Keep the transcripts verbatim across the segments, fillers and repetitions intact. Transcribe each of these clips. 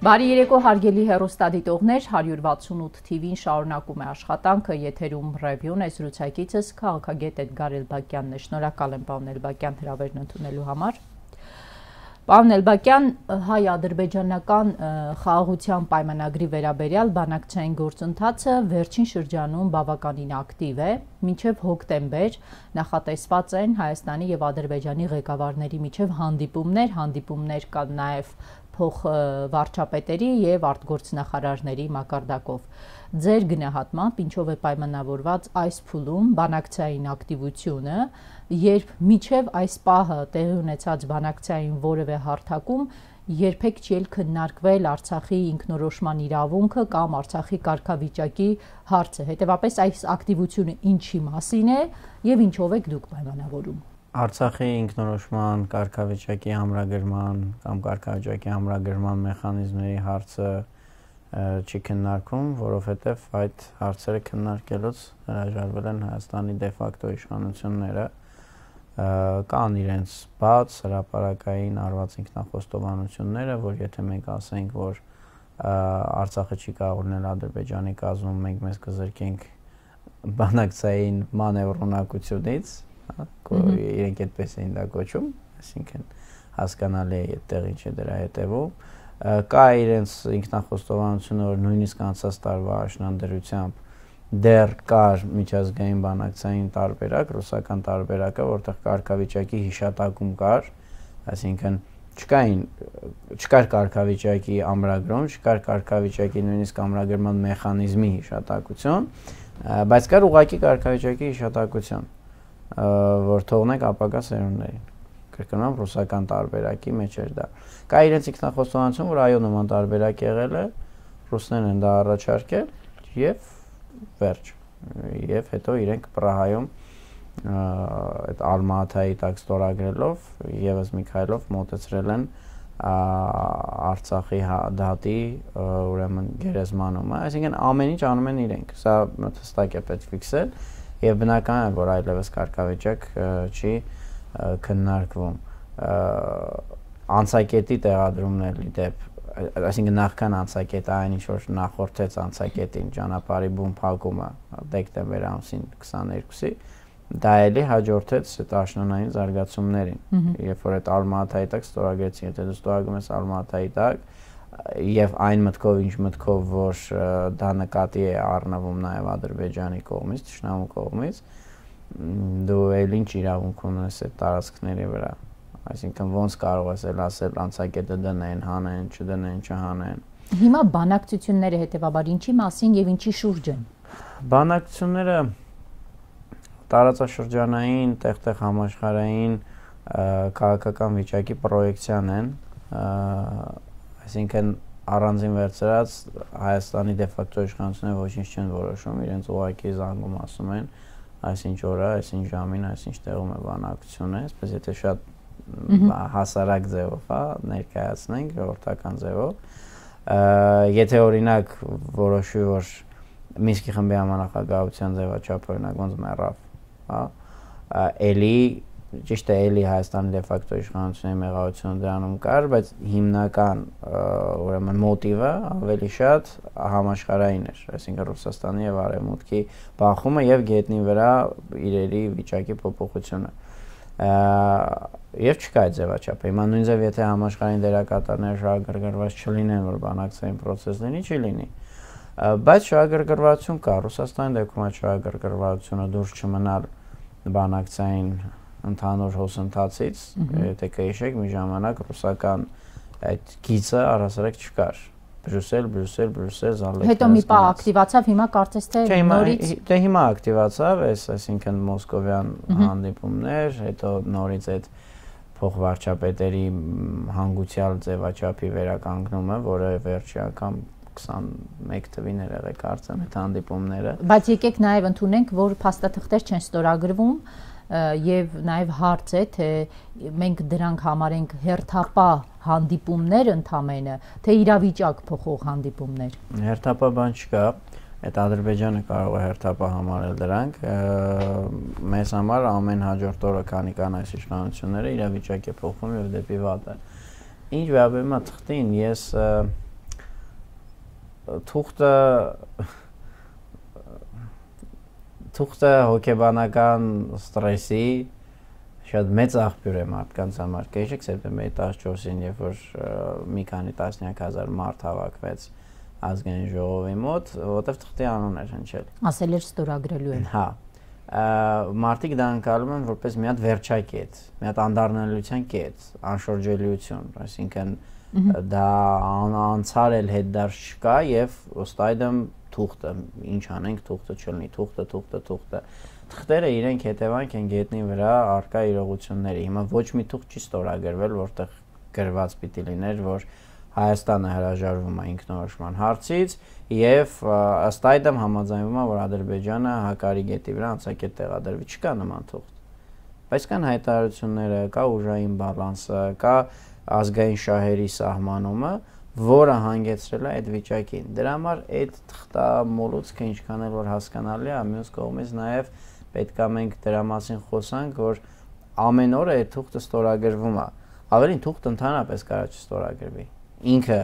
Բարի երեկո հարգելի հեռուստադիտողներ, հարյուր վաթսունութ թիվին շարունակում է աշխատանքը, եթերում ռևյուն է, զրուցակիցս քաղաքագետ Էդգար Էլբակյանն է, շնորհակալ եմ պարոն Էլբակյան հրավերն ընդունելու համար։ Պարոն Էլբակյան, հայ-ադրբեջանական խաղաղության պայմանագրի վերաբերյալ բանակցային գործընթացը վերջին շրջանում բավականին ակտիվ է, մինչև հոկտեմբեր նախատեսված են Հայաստանի եւ Ադրբեջանի ղեկավարների միջև հանդիպումներ, հանդիպումներ կան նաեւ փոխվարչապետերի եւ արտգործնախարարների մակարդակով։ Ձեր գնահատմամբ ինչով է պայմանավորված այս փուլում բանակցային ակտիվությունը, երբ միջև այս պահը տեղի ունեցած բանակցային որևէ հարթակում երբեք չի քննարկվել Արցախի ինքնորոշման իրավունքը կամ Արցախի կարգավիճակի հարցը։ Հետևաբար այս ակտիվությունը ինչի մասին է եւ ինչով եք դուք պայմանավորում։ Արցախի ինքնորոշման կարգավիճակի ամրագրման կամ կարգավիճակի ամրագրման մեխանիզմների հարցը չի քննարկում, որովհետև այդ հարցերը քննարկելուց հրաժարվել են Հայաստանի դե ֆակտո իշխանությունները, կան իրենց բաց հրապարակային արված ինքնախոստովանությունները, որ եթե մենք ասենք, որ Արցախը չի կարող լինել Ադրբեջանի կազմում, մենք մեզ կզրկենք բանակցային մանևրունակությունից, իրենք այդպես էին դա կոչում, այսինքն հասկանալի է այդտեղ ինչ է դրա հետևում, կա իրենց ինքնախոստովանությունը, որ նույնիսկ անցած տարվա աշնանդրությամբ դեռ կար միջազգային բանակցային տարբերակ, ռուսական տարբերակը, որտեղ կարգավիճակի հիշատակում կար, այսինքն չկային, չկար կարգավիճակի ամրագրում, չկար կարգավիճակի նույնիսկ ամրագրման մեխանիզմի հիշատակություն, բայց կար ուղղակի կարգավիճակի հիշատակություն, որ թողնենք ապագա սերունդներին, կրկնում ռուսական տարբերակի մեջ էր դա։ Կա իրենց ինքնախոստովանություն, որ այո նման տարբերակ եղել է, ռուսներն են դա առաջարկել եւ վերջ, եւ հետո իրենք Պրահայում այդ Ալմա-Աթայի տակ ստորագրելով եւս մի քայլով մոտեցրել են Արցախի դատի ուրեմն գերեզմանումը, այսինքն ամեն ինչ անում են իրենք, սա հստակ է պետք ֆիքսել եւ բնական է, որ այլևս կարգավիճակ չի քննարկվում։ Անցակետի տեղադրումն էլ դեպ, այսինքն նախքան անցակետը այն ինչ որ նախորդեց անցակետին ճանապարհի բուն փակումը դեկտեմբեր ամսին քսաներկուսի, դա էլի հաջորդեց այդ աշնանային զարգացումներին, երբ որ այդ Ալմա-Աթայի տակ ստորագրեցին, եթե դու ստորագրում ես Ալմա-Աթայի տակ եւ այն մտքով, ինչ մտքով, որ դա նկատի է առնվում նաեւ Ադրբեջանի կողմից, Թշնամու կողմից, դու էլ ինչ իրավունք ունես այդ տարածքների վրա, այսինքն ոնց կարող ես էլ ասել անցակետը դնեն, հանեն, չդնեն, չհանեն։ Հիմա բանակցությունները հետեւաբար ինչի մասին եւ ինչի շուրջ են։ Բանակցությունները տարածաշրջանային, տեղ-տեղ համաշխարհային քաղաքական վիճակի պրոյեկցիան են, այսինքն առանձին վերցրած Հայաստանի դե ֆակտո իշխանությունները ոչինչ չեն որոշում, իրենց ուղղակի զանգում ասում են այսինչ օրը, այսինչ ժամին, այսինչ տեղում է բանակցությունը, այսպես եթե շատ հասարակ ձևով, հա, ներկայացնենք ժողովրդական ձևով, եթե օրինակ որոշվի, որ Մինսկի խմբի համանախագահության ձևաչափը օրինակ ոնց մեռավ, հա, էլի ճիշտ է էլի Հայաստանի դե ֆակտո իշխանությունների մեղավորությունը դրանում կար, բայց հիմնական ուրեմն մոտիվը ավելի շատ համաշխարհային էր, այսինքն Ռուսաստանի եւ Արևմուտքի բախումը եւ գետնի վրա իրերի վիճակի փոփոխությունը։ Եվ չկա այդ ձևաչափը։ Հիմա նույն ձև եթե համաշխարհային դերակատարները շահագրգռված չլինեն, որ բանակցային process-ների չի լինի, բայց շահագրգռվածություն կա, Ռուսաստանի դեպքում այդ շահագրգռվածությունը դուրս չմնալ բանակցային ընդհանուր հոսընթացից, եթե կհիշեք, մի ժամանակ ռուսական այդ գիծը առհասարակ չկար։ Բրյուսել, Բրյուսել, Բրյուսել, Զալեքս։ Հետո մի պահ ակտիվացավ, հիմա կարծես թե նորից։ Դե հիմա ակտիվացավ, այս այսինքն մոսկովյան հանդիպումներ, հետո նորից այդ փոխվարչապետերի հանգուցյալ ձևաչափի վերականգնումը, որը վերջի անգամ քսանմեկ թվին էր եղել կարծեմ այդ հանդիպումները։ Բայց եկեք նաև ընդունենք, որ փաստաթղթեր չեն ստորագրվում եւ նաեւ հարց է, թե մենք դրանք համարենք հերթապահ հանդիպումներ ընդամենը, թե իրավիճակ փոխող հանդիպումներ։ Հերթապահ բան չկա, այդ Ադրբեջանը կարող է հերթապահ համարել դրանք, մեզ համար ամեն հաջորդ օրը քանի կան այս իշխանությունները իրավիճակ է փոխվում եւ դեպի վատը։ Ինչ վերաբերում է թղթին, ես թուղթը թուղթը հոգեբանական ստրեսի շատ մեծ աղբյուր է մարդկանց համար։ Կհիշեք սեպտեմբերի տասնչորսին, երբ որ մի քանի տասնյակ հազար մարդ հավաքվեց ազգային ժողովի մոտ, որտեղ թղթի անուն էր հնչել։ Ասել էր ստորագրելու են։ Հա։ Մարդիկ դա անցալում են որպես մի հատ վերջակետ, մի հատ անդառնալիության կետ, անշրջելիություն, այսինքն դա անցար էլ հետդարձ չկա եւ ոստայդեմ թուղթը, ինչ անենք, թուղթը չլինի, թուղթը, թուղթը, թուղթը։ Թղթերը իրենք հետևանք են գետնի վրա արկա իրողությունների։ Հիմա ոչ մի թուղթ չի ստորագրվել, որտեղ գրված պիտի լիներ, որ Հայաստանը հրաժարվում է ինքնորոշման հարցից եւ ըստ այդմ համաձայնվում է, որ Ադրբեջանը հակարի գետի վրա անցակետ տեղադրվի, չկա նման թուղթ։ Բայց կան հայտարարությունները, կա ուժային բալանսը, կա ազգային շահերի սահմանումը, որը հանգեցրել է այդ վիճակին։ Դրա համար այդ թղթամոլուցքը ինչքան էլ որ հասկանալի է, մյուս կողմից նաեւ պետք է մենք դրա մասին խոսանք, որ ամեն օր այդ թուղթը ստորագրվում է։ Ավելին թուղթը ընդհանրապես կարա չստորագրվի։ Ինքը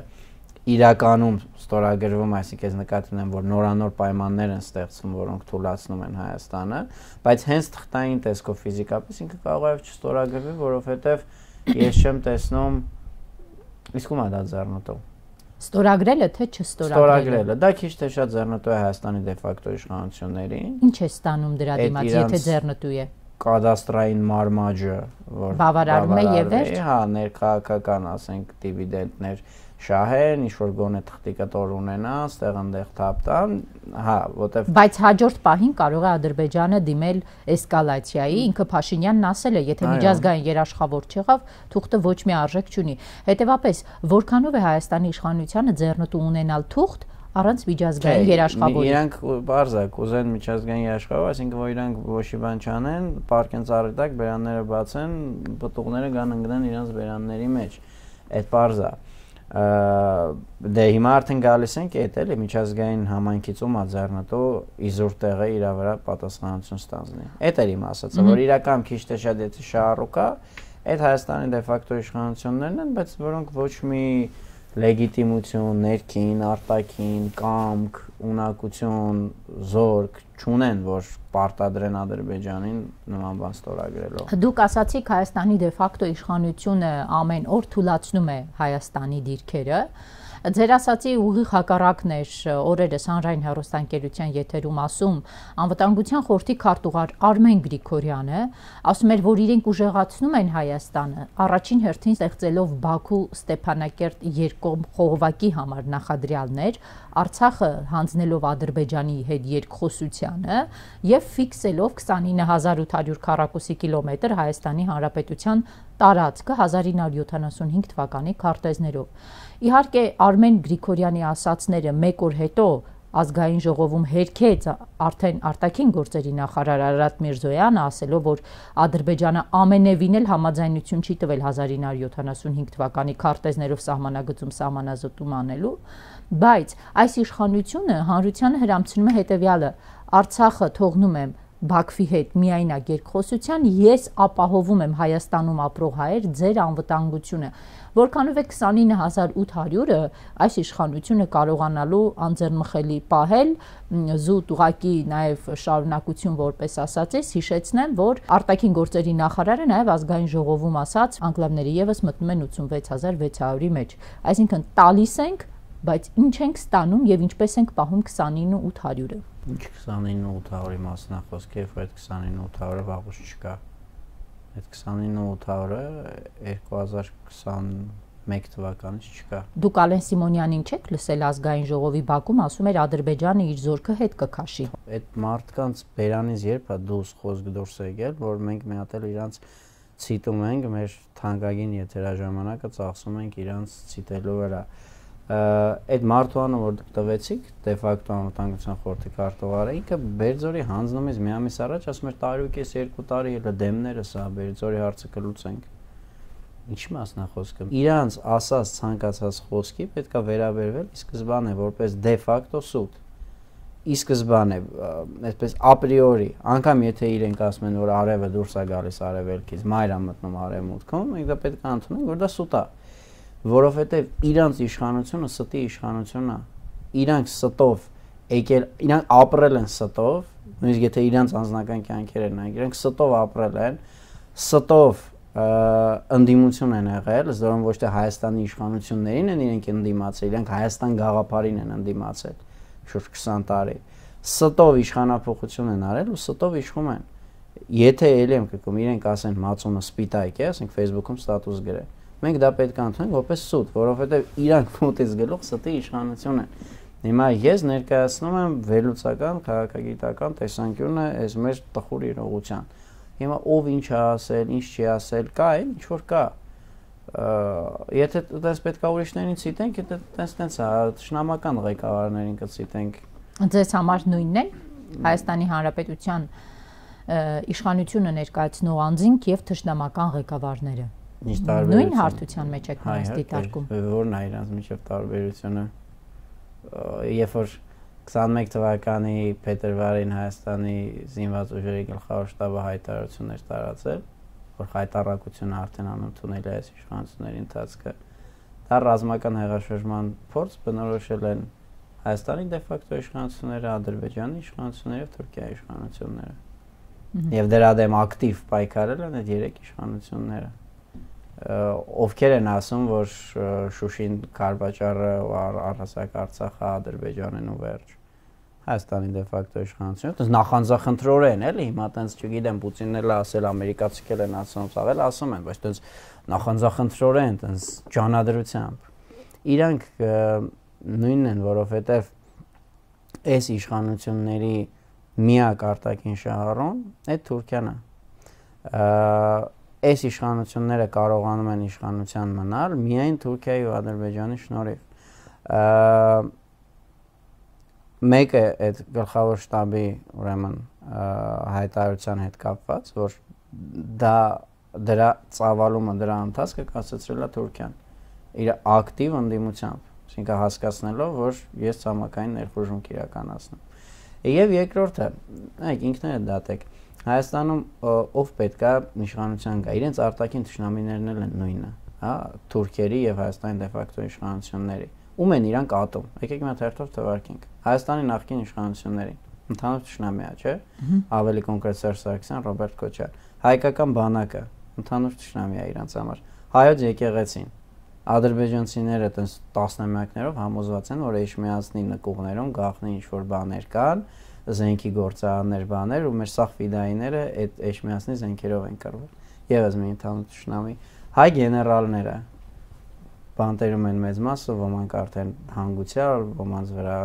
իրականում ստորագրվում, այսինքն նկատի ունեմ, որ նորանոր պայմաններ են ստեղծվում, որոնք թույլատնում են Հայաստանը, բայց հենց թղթային տեսքով ֆիզիկապես ինքը կարող է չստորագրվի, որովհետև ես չեմ տեսնում իսկ ում է դա ձեռնտու։ Ստորագրելը թե չստորագրելը։ Ստորագրելը, դա քիչ թե շատ ձեռնտու է Հայաստանի դե ֆակտո իշխանություններին։ Ինչ է ստանում դրա դիմաց, եթե ձեռնտու է։ Կադաստրային մարմաճը, որ բավարարում է եւ վերջ։ Հա, ներքաղաքական, ասենք, դիվիդենտներ շահեն, ինչ որ գոնե թղթի կտոր ունենան, ստեղ այնտեղ թափ տան, հա, որտեվ Բայց հաջորդ պահին կարող է Ադրբեջանը դիմել էսկալացիայի, ինքը Փաշինյանն ասել է, եթե միջազգային երաշխավոր չեղավ, թուղթը ոչ մի արժեք չունի։ Հետևաբար, որքանով է Հայաստանի իշխանությանը ձեռնտու ունենալ թուղթ առանց միջազգային երաշխավորի։ Իրանք բարձա կուզեն միջազգային երաշխավոր, այսինքն որ իրանք ոչի բան չանեն, պարկեն ծառի տակ բերանները բացեն, պտուղները գան ընկնեն իրանց բերանների մեջ։ Այդ բարձա։ Դե հիմա արդեն գալիս ենք այդ էլի միջազգային համայնքից ում արձառնտու իզուր տեղը իր վրա պատասխանատվություն ստանձնի։ Այդ էր իմ ասածը, որ իրական քիչ թե շատ եթե շահառու կա, այդ Հայաստանի դե ֆակտո իշխանություններն են, բայց որոնք ոչ մի լեգիտիմություն, ներքին, արտաքին, կամք, ունակություն, զորք չունեն, որ պարտադրեն Ադրբեջանին նման բան ստորագրելով։ Դուք ասացիք Հայաստանի դե ֆակտո իշխանությունը ամեն օր թույլատնում է Հայաստանի դիրքերը։ Ձեր ասացի ուղիղ հակառակն էր օրերս հանրային հեռուստաընկերության եթերում ասում անվտանգության խորհրդի քարտուղար Արմեն Գրիգորյանը, ասում էր, որ իրենք ուժեղացնում են Հայաստանը, առաջին հերթին ստեղծելով Բաքու-Ստեփանակերտ երկկողմ խողովակի համար նախադրյալներ, Արցախը հանձնելով Ադրբեջանի հետ երկխոսությանը եւ ֆիքսելով քսանինը հազար ութ հարյուր քառակուսի կիլոմետր Հայաստանի Հանրապետության տարածքը հազար ինը հարյուր յոթանասունհինգ թվականի քարտեզներով։ Իհարկե Արմեն Գրիգորյանի ասացները մեկ օր հետո ազգային ժողովում հերքեց արդեն արտաքին գործերի նախարար Արարատ Միրզոյանը, ասելով, որ Ադրբեջանը ամենևին էլ համաձայնություն չի տվել հազար ինը հարյուր յոթանասունհինգ թվականի քարտեզներով սահմանագծում սահմանազատում անելու, բայց այս իշխանությունը հանրությանը հրամցնում է հետևյալը. Արցախը թողնում եմ Բաքվի հետ միայնակ երկխոսության, ես ապահովում եմ Հայաստանում ապրող հայեր ձեր անվտանգությունը։ Որքանով է քսանինը հազար ութ հարյուրը այս իշխանությունը կարողանալու անձեռնմխելի պահել, զուտ ուղակի նաև շարունակություն որպես ասածես, հիշեցնեմ, որ արտաքին գործերի նախարարը նաև ազգային ժողովում ասաց, անկլավները եւս մտնում են ութսունվեց հազար վեց հարյուրի մեջ։ Այսինքն տալիս ենք, բայց ինչ ենք ստանում եւ ինչպես ենք պահում քսանինը ութ հարյուրը։ Ինչ քսանինը ութ հարյուրի մասին է խոսքը, երբ այդ քսանինը ութ հարյուրը վաղուց չկա։ Այդ քսանինը ութ հարյուրը երկու հազար քսանմեկ թվականից չկա։ Դուք Ալեն Սիմոնյանին չեք լսել ազգային ժողովի բակում, ասում էր Ադրբեջանը իր զորքը հետ կքաշի։ Այդ մարդկանց բերանից երբ է դուրս խոսք դուրս եկել, որ մենք մի հատ էլ իրանց ցիտում ենք, մեր թանկագին եթերաժամանակը ծախսում ենք իրանց ցիտելու վրա։ Այդ մարդուանը, որ դուք տվեցիք, դե ֆակտո անվտանգության խորհրդի քարտուղարը, ինքը Բերձորի հանձնումից մի ամիս առաջ ասում էր տարի ու կես երկու տարի ելը դեմները սա Բերձորի հարցը կլուծենք։ Ինչի մասն է խոսքը։ Իրանց ասած ցանկացած խոսքի պետքա վերաբերվել ի սկզբանե որպես դե ֆակտո սուտ։ Ի սկզբանե, այսպես ապրիորի, անգամ եթե իրենք ասում են, որ արևը դուրս է գալիս արևելքից, մայր է մտնում արևմուտքում, մենք դա պետք է ընդունենք, որ դա սուտ է, որովհետև իրանց իշխանությունը ստի իշխանություն է։ իրանք ստով եկել, իրանք ապրել են ստով, նույնիսկ եթե իրանք անձնական կյանքեր են նայեք, իրանք ստով ապրել են, ստով ընդդիմություն են եղել, զորում ոչ թե Հայաստանի իշխանություններին են իրենք ընդդիմացել, իրենք Հայաստան գաղափարին են ընդդիմացել շուրջ քսան տարի։ Ստով իշխանափոխություն են արել ու ստով իշխում են։ Եթե ելի եմ կգում, իրենք ասեն մածունը սպիտակ է, ասենք Facebook-ում ստատուս գրել։ Մենք դա պետք է ընդունենք որպես սուտ, որովհետև իրանք մոտից գլուխ ստի իշխանություն են։ Հիմա ես ներկայացնում եմ վերլուծական քաղաքագիտական տեսանկյունը այս մեր տխուր իրողության։ Հիմա ով ինչ է ասել, ինչ չի ասել, կա է, ինչ որ կա։ Եթե դες պետք է ուրիշներին ցիտենք, եթե տենց-տենց է, շնամական ղեկավարներին կցիտենք։ Ձեզ համար նույնն է Հայաստանի Հանրապետության իշխանությունը ներկայացնող անձինք եւ թշնամական ղեկավարները։ Նույն հարթության մեջ եք նրանց դիտարկում։ Որն է իրանց միջև տարբերությունը։ Երբ որ քսանմեկ թվականի փետրվարին Հայաստանի զինված ուժերի գլխավոր շտաբը հայտարարություններ տարածել, որ հայտարարությունը արդեն անընդունել է այս իշխանությունների ընթացքը, դա ռազմական հեղաշրջման փորձ բնորոշել են Հայաստանի դե ֆակտո իշխանությունները, Ադրբեջանի իշխանությունները եւ Թուրքիայի իշխանությունները։ Եվ դրա դեմ ակտիվ պայքարել են այդ երեք իշխանությունները։ Ովքեր են ասում, որ Շուշին Կարվաճառը ու առհասարակ Արցախը Ադրբեջանն ու վերջ։ Հայաստանի դե ֆակտո իշխանությունը, դες նախանձախնդրորեն էլի, հիմա տենց չգիտեմ, Պուտինն էլ ասել, ամերիկացիքել են ասում, ցավել ասում են, բայց տենց նախանձախնդրորեն, տենց ջանադրությամբ։ Իրանք նույնն են, որովհետև այս իշխանությունների միակ արտաքին շահառուն այդ Թուրքիան է։ Այս իշխանությունները կարողանում են իշխանության մնալ միայն Թուրքիայի ու Ադրբեջանի շնորհիվ։ Մեկը այդ գլխավոր շտաբի ուրեմն հայտարարության հետ կապված, որ դա դրա ծավալումը, դրա ընթացքը կասեցրել է Թուրքիան իր ակտիվ ընդդիմությամբ, այսինքն հասկացնելով, որ ես ցամաքային ներխուժում կիրականացնեմ։ Եվ երկրորդը, այք ինքներդ դատեք, Հայաստանում ով պետք է իշխանության գա, իրենց արտաքին թշնամիներն են նույնը, հա, թուրքերի եւ Հայաստանի դե ֆակտո իշխանությունների։ Ում են իրանք ատում։ Եկեք մի հատ հերթով թվարկենք։ Հայաստանի նախկին իշխանություններին, ընդհանուր թշնամի է, չէ՞։ Ավելի կոնկրետ Սերժ Սարգսյան, Ռոբերտ Քոչարյան։ Հայկական բանակը, ընդհանուր թշնամի է իրանց համար։ Հայոց եկեղեցին, ադրբեջանցիները տես տասնամյակներով համոզված են, որ Էջմիածնի նկուղներում գաղտնի ինչ-որ բաներ կան, զենքի գործարաններ, բաներ, ու մեր սաղ ֆիդայիները այդ Էջմիածնի զենքերով են կռվել։ Եվս մի ընդհանուր թշնամի։ Հայ գեներալները բանտերում են մեծ մասը, ոմանք արդեն հանգուցյալ, ոմանց վրա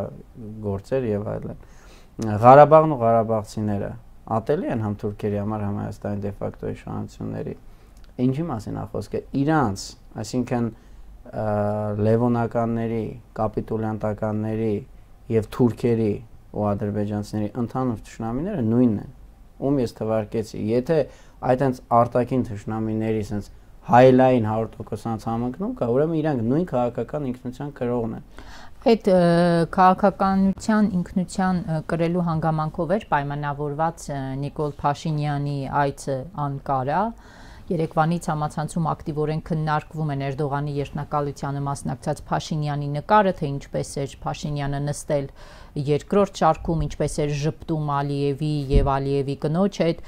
գործեր եւ այլն։ Ղարաբաղն ու ղարաբաղցիները ատելի են համ թուրքերի համար, համ Հայաստանի դե ֆակտո իշխանությունների։ Ինչի մասին է խոսքը։ Իրանց, այսինքն լևոնականների, կապիտուլյանտականների եւ թուրքերի ու ադրբեջանցիների ընդհանուր թշնամիները նույնն են։ Ում ես թվարկեցի, եթե այդտենց արտաքին թշնամիների sense հայլային հարյուր տոկոս համընկնում կա, ուրեմն իրանք նույն քաղաքական ինքնության կրողն են։ Այդ քաղաքականության ինքնության կրելու հանգամանքով էր պայմանավորված Նիկոլ Փաշինյանի այցը Անկարա։ Երեկվանից համացանցում ակտիվորեն քննարկվում են Էրդողանի երթնակալությանը մասնակցած Փաշինյանի նկարը, թե ինչպես էր Փաշինյանը նստել երկրորդ շարքում, ինչպես էր ժպտում Ալիևի եւ Ալիևի կնոջ հետ,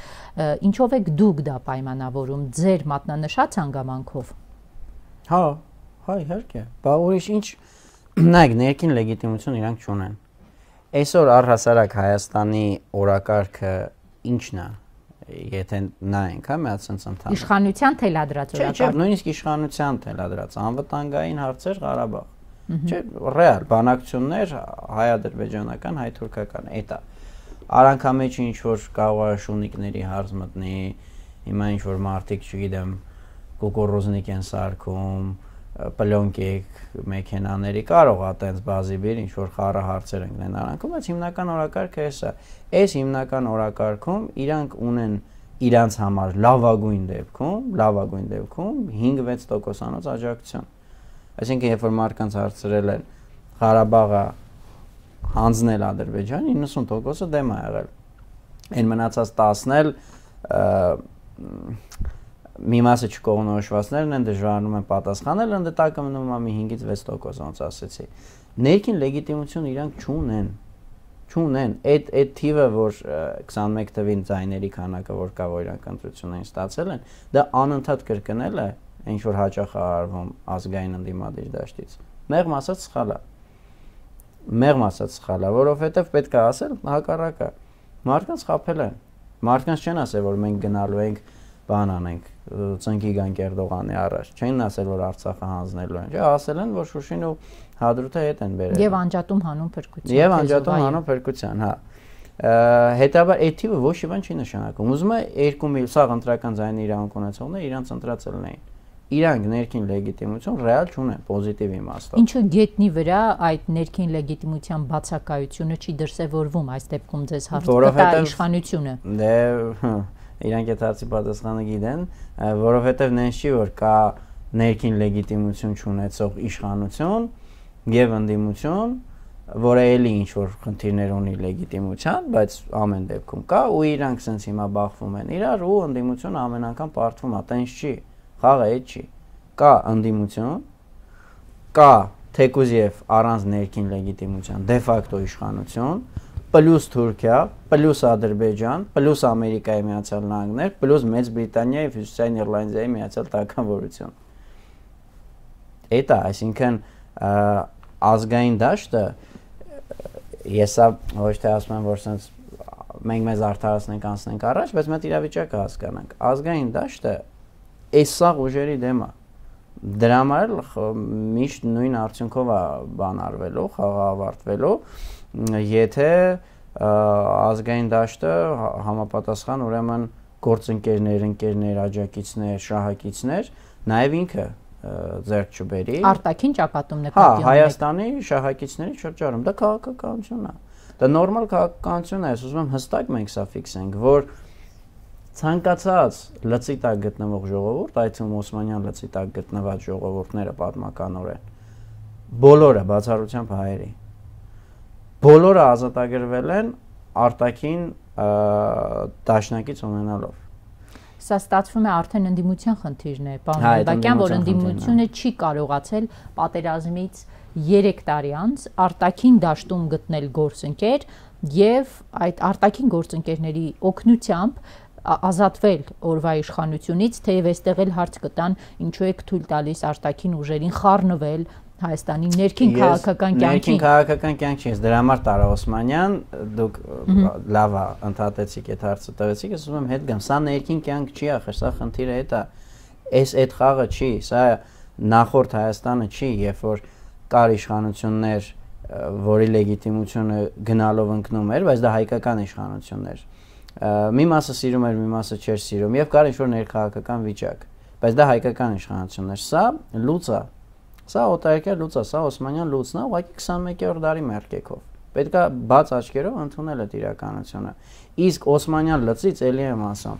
ինչով եք դուք դա պայմանավորում, ձեր մատնանշած հանգամանքով։ Հա, հա, իհարկե։ Բա ուրիշ ինչ, նայեք, ներքին լեգիտիմություն իրանք չունեն։ Այսօր առհասարակ Հայաստանի օրակարգը ինչն է։ Եթե նայենք, հա, մի հատ sense ընդհանուր։ Իշխանության թելադրած օրակարգ։ Չէ, նույնիսկ իշխանության թելադրած, անվտանգային հարցեր Ղարաբաղ։ Չէ, ռեալ բանակցություններ հայ-ադրբեջանական, հայ-թուրքական, էտա։ Արանքամեջը ինչ որ կարող է շունիկների հարց մտնի, հիմա ինչ որ մարտիկ, չգիտեմ, կոկորոզնիկ են սարքում, պլյոնկիկ մեքենաների կարող է տենց բազիբիր ինչ որ խառը հարցեր ընկնեն արանքում, բայց հիմնական օրակարգը էսա։ Այս հիմնական օրակարգում իրանք ունեն իրանց համար լավագույն դեպքում, լավագույն դեպքում հինգ-վեց տոկոսանոց աջակցություն։ Այսինքն երբ որ մարդկանց հարցրել են Ղարաբաղը հանձնել Ադրբեջան, իննսուն տոկոսը դեմ է եղել։ Այն մնացած տասն էլ մի մասը չկողմնորոշվածներն են դժվարանում են պատասխանել, ընդդե տակը մնում է մի հինգից վեց տոկոս, ոնց ասեցի։ Ներքին լեգիտիմություն իրանք չունեն։ Չունեն, այդ այդ թիվը, որ քսանմեկ թվին ձայների քանակը, որ կա, որ իրանք ընտրություններին ստացել են, դա անընդհատ կրկնել է, ինչ որ հաճախ է արվում ազգային ընդդիմադիր դաշտից։ Մեղմ ասած սխալ է։ Մեղմ ասած սխալ է, որովհետև պետք է ասել հակառակը։ Մարդկանց խաբել են։ Մարդկանց չեն ասել, որ մենք գնալու ենք բան անենք, ծնկի գանք Էրդողանի առաջ։ Չեն ասել, որ Արցախը հանձնելու են։ Չէ, ասել են, որ Շուշին ու Հադրութը հետ են բերել։ Եվ անջատում հանուն փրկության։ Եվ անջատում հանուն փրկության, հա։ Հետաբար այդ թիվը ոչ մի բան չի նշանակում։ Ուզում է երկու միլիոն սաղ ընտրական ձայնի իրավունք ունեցողները իրանց ընտրածել էին։ Իրանք ներքին լեգիտիմություն ռեալ չունեն, պոզիտիվ իմաստով։ Ինչու գետնի վրա այդ ներքին լեգիտիմության բացակայությունը չի դրսևորվում այս դեպքում ձեզ հարցը իշխանությունը։ Դե իրանք այդ հարցի պատասխանը գիտեն, որովհետև նենց չի, որ կա ներքին լեգիտիմություն չունեցող իշխանություն եւ ընդդիմություն, որը էլի ինչ որ խնդիրներ ունի լեգիտիմության, բայց ամեն դեպքում կա ու իրանք sense հիմա բախվում են իրար ու ընդդիմությունը ամեն անգամ պարտվում է, տենց չի, խաղը այդ չի։ Կա ընդդիմություն, կա թեկուզ եւ առանց ներքին լեգիտիմության դե ֆակտո իշխանություն, պլյուս Թուրքիա, պլյուս Ադրբեջան, պլյուս Ամերիկայի Միացյալ Նահանգներ, պլյուս Մեծ Բրիտանիա եւ Հյուսիսային Իռլանդիայի Միացյալ Թագավորություն։ Էտա, այսինքն ազգային դաշտը եսա ոչ թե ասում եմ, որ sense մենք մեզ արդարացնենք անցնենք առաջ, բայց մենք իրավիճակը հասկանանք։ Ազգային դաշտը այս սաղ ուժերի դեմ է։ Դրա համար միշտ նույն արդյունքով է բան արվելու, խաղը ավարտվելու, եթե ազգային դաշտը համապատասխան ուրեմն գործընկերներ, ընկերներ, աջակիցներ, շահակիցներ, նաև ինքը ձեռք չբերի։ Արտաքին ճակատում նկատի ունեք։ Հա, Հայաստանի շահակիցների շրջանում դա քաղաքականություն է։ Դա նորմալ քաղաքականություն է, ուզում եմ հստակ մենք սա ֆիքսենք, որ ցանկացած լծի տակ գտնվող ժողովուրդ, այդ թվում Օսմանյան լծի տակ գտնված ժողովուրդները պատմականորեն, բոլորը բացառությամբ հայերի, բոլորը ազատագրվել են արտաքին դաշնակից ունենալով։ Սա ստացվում է արդեն ընդդիմության խնդիրն է, պարոն Նալբանդյան, որ ընդդիմությունը չի կարողացել պատերազմից երեք տարի անց արտաքին դաշտում գտնել գործընկեր եւ այդ արտաքին գործընկերների օգնությամբ ազատվել օրվա իշխանությունից, թեև այստեղ էլ հարց կտան, ինչու եք թույլ տալիս արտաքին ուժերին խառնվել Հայաստանի ներքին քաղաքական կյանքին։ Ներքին քաղաքական կյանք չի, դրա համար Տարա Օսմանյան, դուք լավ է ընդհատեցիք այդ հարցը տվեցիք, ես ուզում եմ հետ գամ, սա ներքին կյանք չի, ախր սա խնդիրը այդ է, այս այդ խաղը չի, սա նախորդ Հայաստանը չի, երբ որ կար իշխանություններ, որի լեգիտիմությունը գնալով ընկնում էր, բայց դա հայկական իշխանությունն էր։ Մի մասը սիրում էր, մի մասը չէր սիրում, եւ կար ինչ-որ ներքաղաքական վիճակ, բայց դա հայկական իշխանությունն էր։ Սա լուծ է։ Սա օտարերկրյա լուծ է, սա Օսմանյան լուծն է, ուղղակի քսանմեկերորդ դարի մերկեքով։ Պետք է բաց աչքերով ընդունել այդ իրականությունը։ Իսկ Օսմանյան լծից էլի եմ ասում,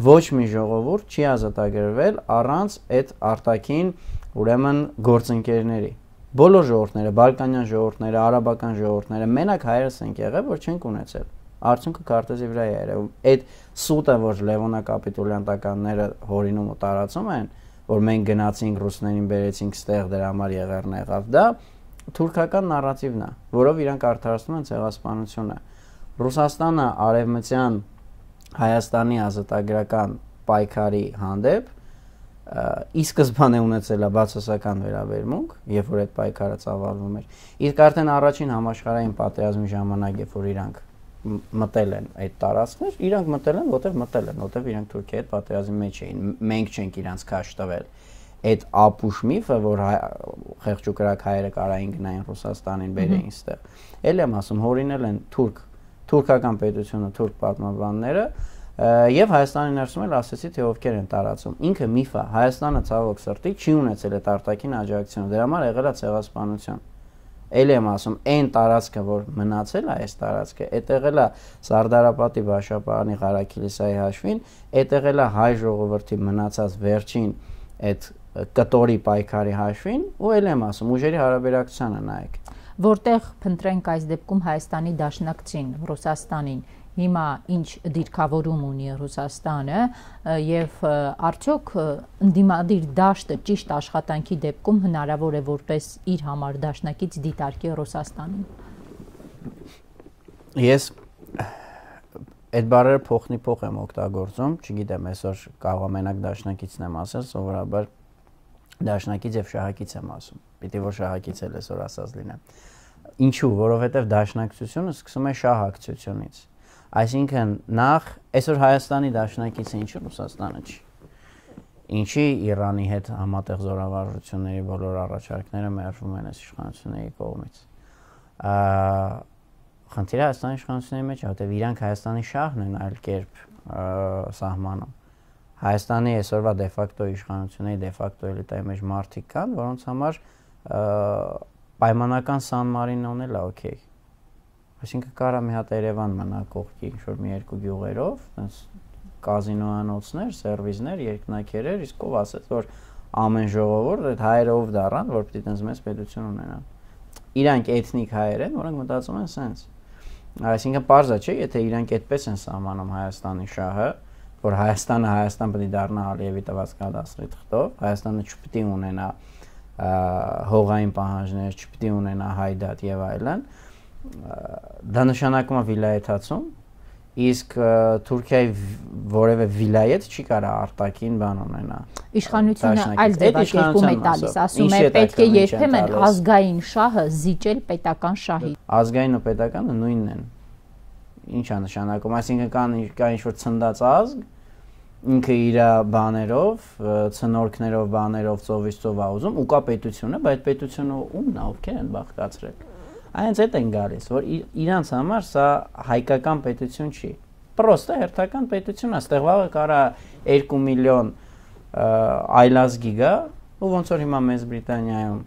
ոչ մի ժողովուրդ չի ազատագրվել առանց այդ արտաքին, ուրեմն գործընկերների։ Բոլոր ժողովուրդները, բալկանյան ժողովուրդները, արաբական ժողովուրդները, մենակ հայերս ենք եղել, որ չենք ունեցել։ Արդյունքը քարտեզի վրա է երևում։ Այդ սուտը, որ Լևոնակապիտուլյանտականները հորինում ու տարածում են, որ մենք գնացինք ռուսներին բերեցինք ստեղ դրա համար եղերն եղավ, դա թուրքական նարատիվն է, որով իրանք արդարացնում են ցեղասպանությունը։ Ռուսաստանը արևմտյան Հայաստանի ազատագրական պայքարի հանդեպ ի սկզբանե ունեցել է բացասական վերաբերմունք, երբ որ այդ պայքարը ծավալվում էր։ Իսկ արդեն առաջին համաշխարհային պատերազմի ժամանակ, երբ որ իրանք մտել են այդ տարածքներ, իրանք մտել են, որտեղ մտել են, որտեղ իրանք Թուրքիայի հետ պատերազմի մեջ էին։ Մենք չենք իրանք քաշ տվել։ Այդ ապուշ միֆը, որ խեղճուկրակ հայերը կարային գնային Ռուսաստանին, բերեին ստեղ։ Էլ եմ ասում, հորինել են թուրք, թուրքական պետությունը, թուրք պատմաբանները, եւ Հայաստանի ներսում էլ ասեցի, թե ովքեր են տարածում։ Ինքը միֆ է, Հայաստանը ցավոք սրտի չի ունեցել այդ արտաքին աջակցությունը, դրա համար եղել է ցեղասպանություն։ Էլ եմ ասում, այն տարածքը, որ մնացել է այս տարածքը, այդ եղել է Սարդարապատի Բաշապարանի Ղարաքիլիսայի հաշվին, այդ եղել է հայ ժողովրդի մնացած վերջին այդ կտորի պայքարի հաշվին, ու էլ եմ ասում, ուժերի հարաբերակցությանը նայեք։ Որտեղ փնտրենք այս դեպքում Հայաստանի դաշնակցին, Ռուսաստանին, հիմա ինչ դիրքավորում ունի Ռուսաստանը եւ արդյոք ընդդիմադիր դաշտը ճիշտ աշխատանքի դեպքում հնարավոր է որպես իր համար դաշնակից դիտարկի Ռուսաստանին։ Ես այդ բառերը փոխնի փոխ եմ օգտագործում, չգիտեմ, այսօր կարող եմ մենակ դաշնակիցն եմ ասել, սովորաբար դաշնակից եւ շահակից եմ ասում։ Պիտի որ շահակից էլ այսօր ասած լինեմ։ Ինչու, որովհետեւ դաշնակցությունը սկսում է շահակցությունից։ Այսինքն նախ այսօր Հայաստանի դաշնակիցը ինչու Ռուսաստանը չի։ Ինչի Իրանի հետ համատեղ զորավարժությունների բոլոր առաջարկները մերժվում են այս իշխանությունների կողմից։ Խնդիրը Հայաստանի իշխանությունների մեջ է, որտեղ իրանք Հայաստանի շահն են այլ կերպ սահմանում։ Հայաստանի այսօրվա դեֆակտո իշխանությունների դեֆակտո էլիտայի մեջ մարդիկ կան, որոնց համար պայմանական Սան Մարինոն էլ է օքեյ։ Այսինքն կարա մի հատ Երևան մնա կողքի ինչ-որ մի երկու գյուղերով, այնպես կազինոանոցներ, սերվիզներ, երկնակերեր, իսկ ով ասեց, որ ամեն ժողովուրդ այդ հայերը ով դառան, որ պիտի տենց մեծ պետություն ունենան։ Իրանք էթնիկ հայեր են, որոնք մտածում են սենց։ Այսինքն պարզ է, չէ, եթե իրանք այդպես են սահմանում Հայաստանի շահը, որ Հայաստանը Հայաստան պետք է դառնա Ալիևի տված կադաստրի թղթով, Հայաստանը չպետք է ունենա հողային պահանջներ, չպետք է ունենա հայդատ եւ այլն, դա նշանակում է վիլայեթացում, իսկ Թուրքիայի որևէ վիլայեթ չի կարա արտաքին բան ունենա։ Իշխանությունը այլ ձևակերպում է տալիս, ասում է պետք է երբեմն ազգային շահը զիջել պետական շահի։ Ազգային ու պետականը նույնն են։ Ինչ է նշանակում, այսինքն կան կա ինչ-որ ցնդած ազգ, ինքը իր բաներով, ցնորքներով, բաներով ծովից ծով ա ուզում, ու կա պետությունը, բայց պետությունը ումն է, ովքեր են բաղկացրել։ Այնց այդ են գալիս, որ իրանց համար սա հայկական պետություն չի։ Պրոստը հերթական պետություն է, ստեղ վաղը կարա երկու միլիոն այլազգի գա, ու ոնց որ հիմա Մեծ Բրիտանիայում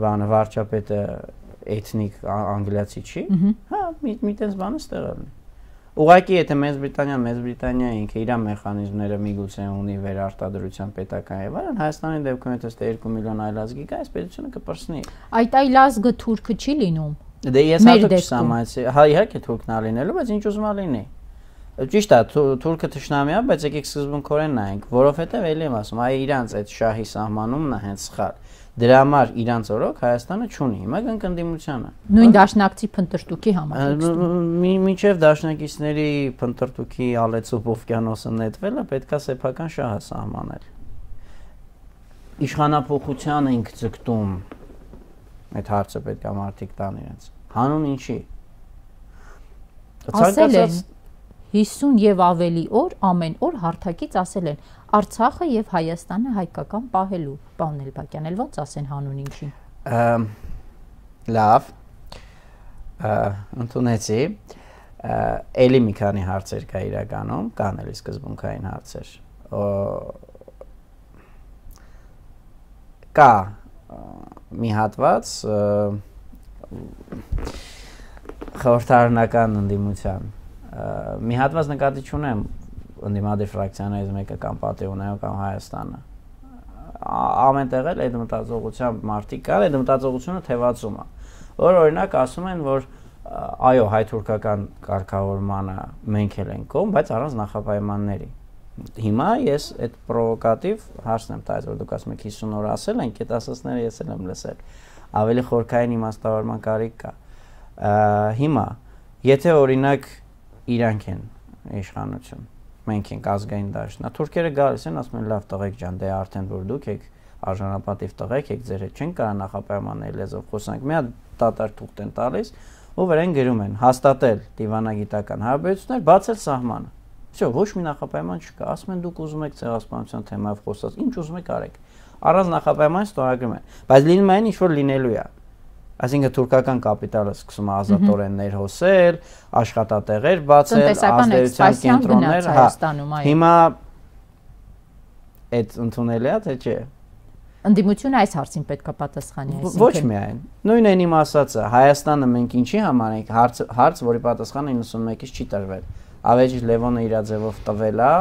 բանը վարչապետը էթնիկ անգլիացի չի, հա, մի տենց բանը ստեղ է։ Ուղղակի եթե Մեծ Բրիտանիան, Մեծ Բրիտանիա ինքը իր մեխանիզմները միգուցե ունի վերարտադրության պետական եւ այլն, Հայաստանի դեպքում եթե ստե երկու միլիոն այլազգի կա, այս պետությունը կպրծնի։ Այդ այլազգը թուրքը չի լինում։ Դե ես հատուկ չսահմանեցի, հա իհարկե թուրքն է լինելու, բայց ինչ ուզում ա լինի։ Ճիշտ է, թուրքը թշնամի է, բայց եկեք սկզբունքորեն նայենք, որովհետեւ էլի եմ ասում, այ իրանց այդ շահի սահմանումն է հենց սխալ։ Դրա համար իրանց օրոք Հայաստանը չունի, հիմա կնկնդիմությանը։ Նույն դաշնակցի փնտրտուքի համար։ Մինչև դաշնակիցների փնտրտուքի ալեցուփ օվկիանոսը նետվելը պետքա սեփական շահը սահմանել։ Իշխանափոխությանը ինք ձգտում այդ հարցը պետքա մարդիկ տան իրենց։ Հանուն ինչի։ Ասել են հիսուն եւ ավելի օր ամեն օր հարթակից ասել են Արցախը եւ Հայաստանը հայկական պահելու, պարոն Էլբակյան, էլ ոնց ասեն հանուն ինչի։ Լավ։ Ընդունեցի։ Էլի մի քանի հարցեր կա իրականում, կան էլի սկզբունքային հարցեր։ Կա մի հատված խորհրդարանական ընդդիմության մի հատված նկատի չունեմ ընդդիմադիր ֆրակցիաներից մեկը կամ Պատեոնայով կամ Հայաստանը ամենտեղ էլ այդ մտածողությամբ մարդիկ կան, այդ մտածողությունը թևածում է, որ օրինակ ասում են, որ այո, հայ-թուրքական կարգավորմանը մենք էլ ենք կողմ, բայց առանց նախապայմանների։ Հիմա ես այդ պրովոկատիվ հարցն եմ տալիս, որ դուք ասում եք հիսուն օր ասել ենք, այդ ասածները ես էլ եմ լսել, ավելի խորքային իմաստավորման կարիք կա։ Հիմա, եթե օրինակ իրանք են իշխանություն, մենք ենք ազգային դաշնա, թուրքերը գալիս են, ասում են լավ տղեկ ջան, դե արդեն որ դուք եք արժանապատիվ տղեկ եք, ձեր հետ չեն կարա նախապայմանների լեզվով խոսանք, մի հատ դատարկ թուղթ են տալիս, ու վրան գրում են հաստատել դիվանագիտական հարաբերություններ, բացել սահմանը։ Всё, ոչ մի նախապայման չկա, ասում են դուք ուզում եք ցեղասպանության թեմայով խոսած, ինչ ուզում եք արեք։ Առանց նախապայմանի ստորագրում են, բայց լինում է ինչ որ լինելու է։ Այսինքն թուրքական կապիտալը սկսում է ազատորեն ներհոսել, աշխատատեղեր բացել, ազդեցության կենտրոններ, հա։ Հիմա այդ ընդունելի է, թե չէ։ Ընդդիմությունը այս հարցին պետք է պատասխանի, այսինքն։ Ոչ միայն։ Նույնն են իմ ասածը, Հայաստանը մենք ինչի համար ենք, հարց, հարց, որի պատասխանը իննսունմեկից չի տրվել։ Ավեջի Լևոնը իր ձևով տվել է,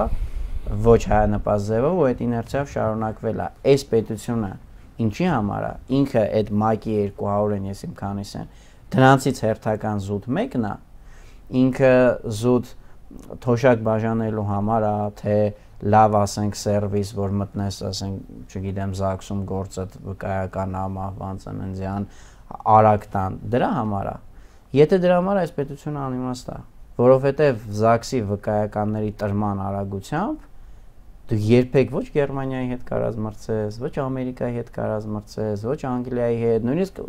ոչ հայանպաստ ձևով, ու այդ իներցիայով շարունակվել է։ Այս պետությունը ինչի համար է, ինքը այդ մակի երկու հարյուրն ես իմ քանիս են, դրանցից հերթական զուտ մեկն է, ինքը զուտ թոշակ բաժանելու համար է, թե լավ ասենք սերվիս, որ մտնես, ասենք, չգիտեմ, ԶԱԳՍ-ում գործը վկայական ամահվան ծննդյան, արագ տան, դրա համար է։ Եթե դրա համար այս պետությունը անիմաստ է, որովհետև ԶԱԳՍ-ի վկայականների տրման արագությամբ դու երբեք ոչ Գերմանիայի հետ կարաս մրցես, ոչ Ամերիկայի հետ կարաս մրցես, ոչ Անգլիայի հետ, նույնիսկ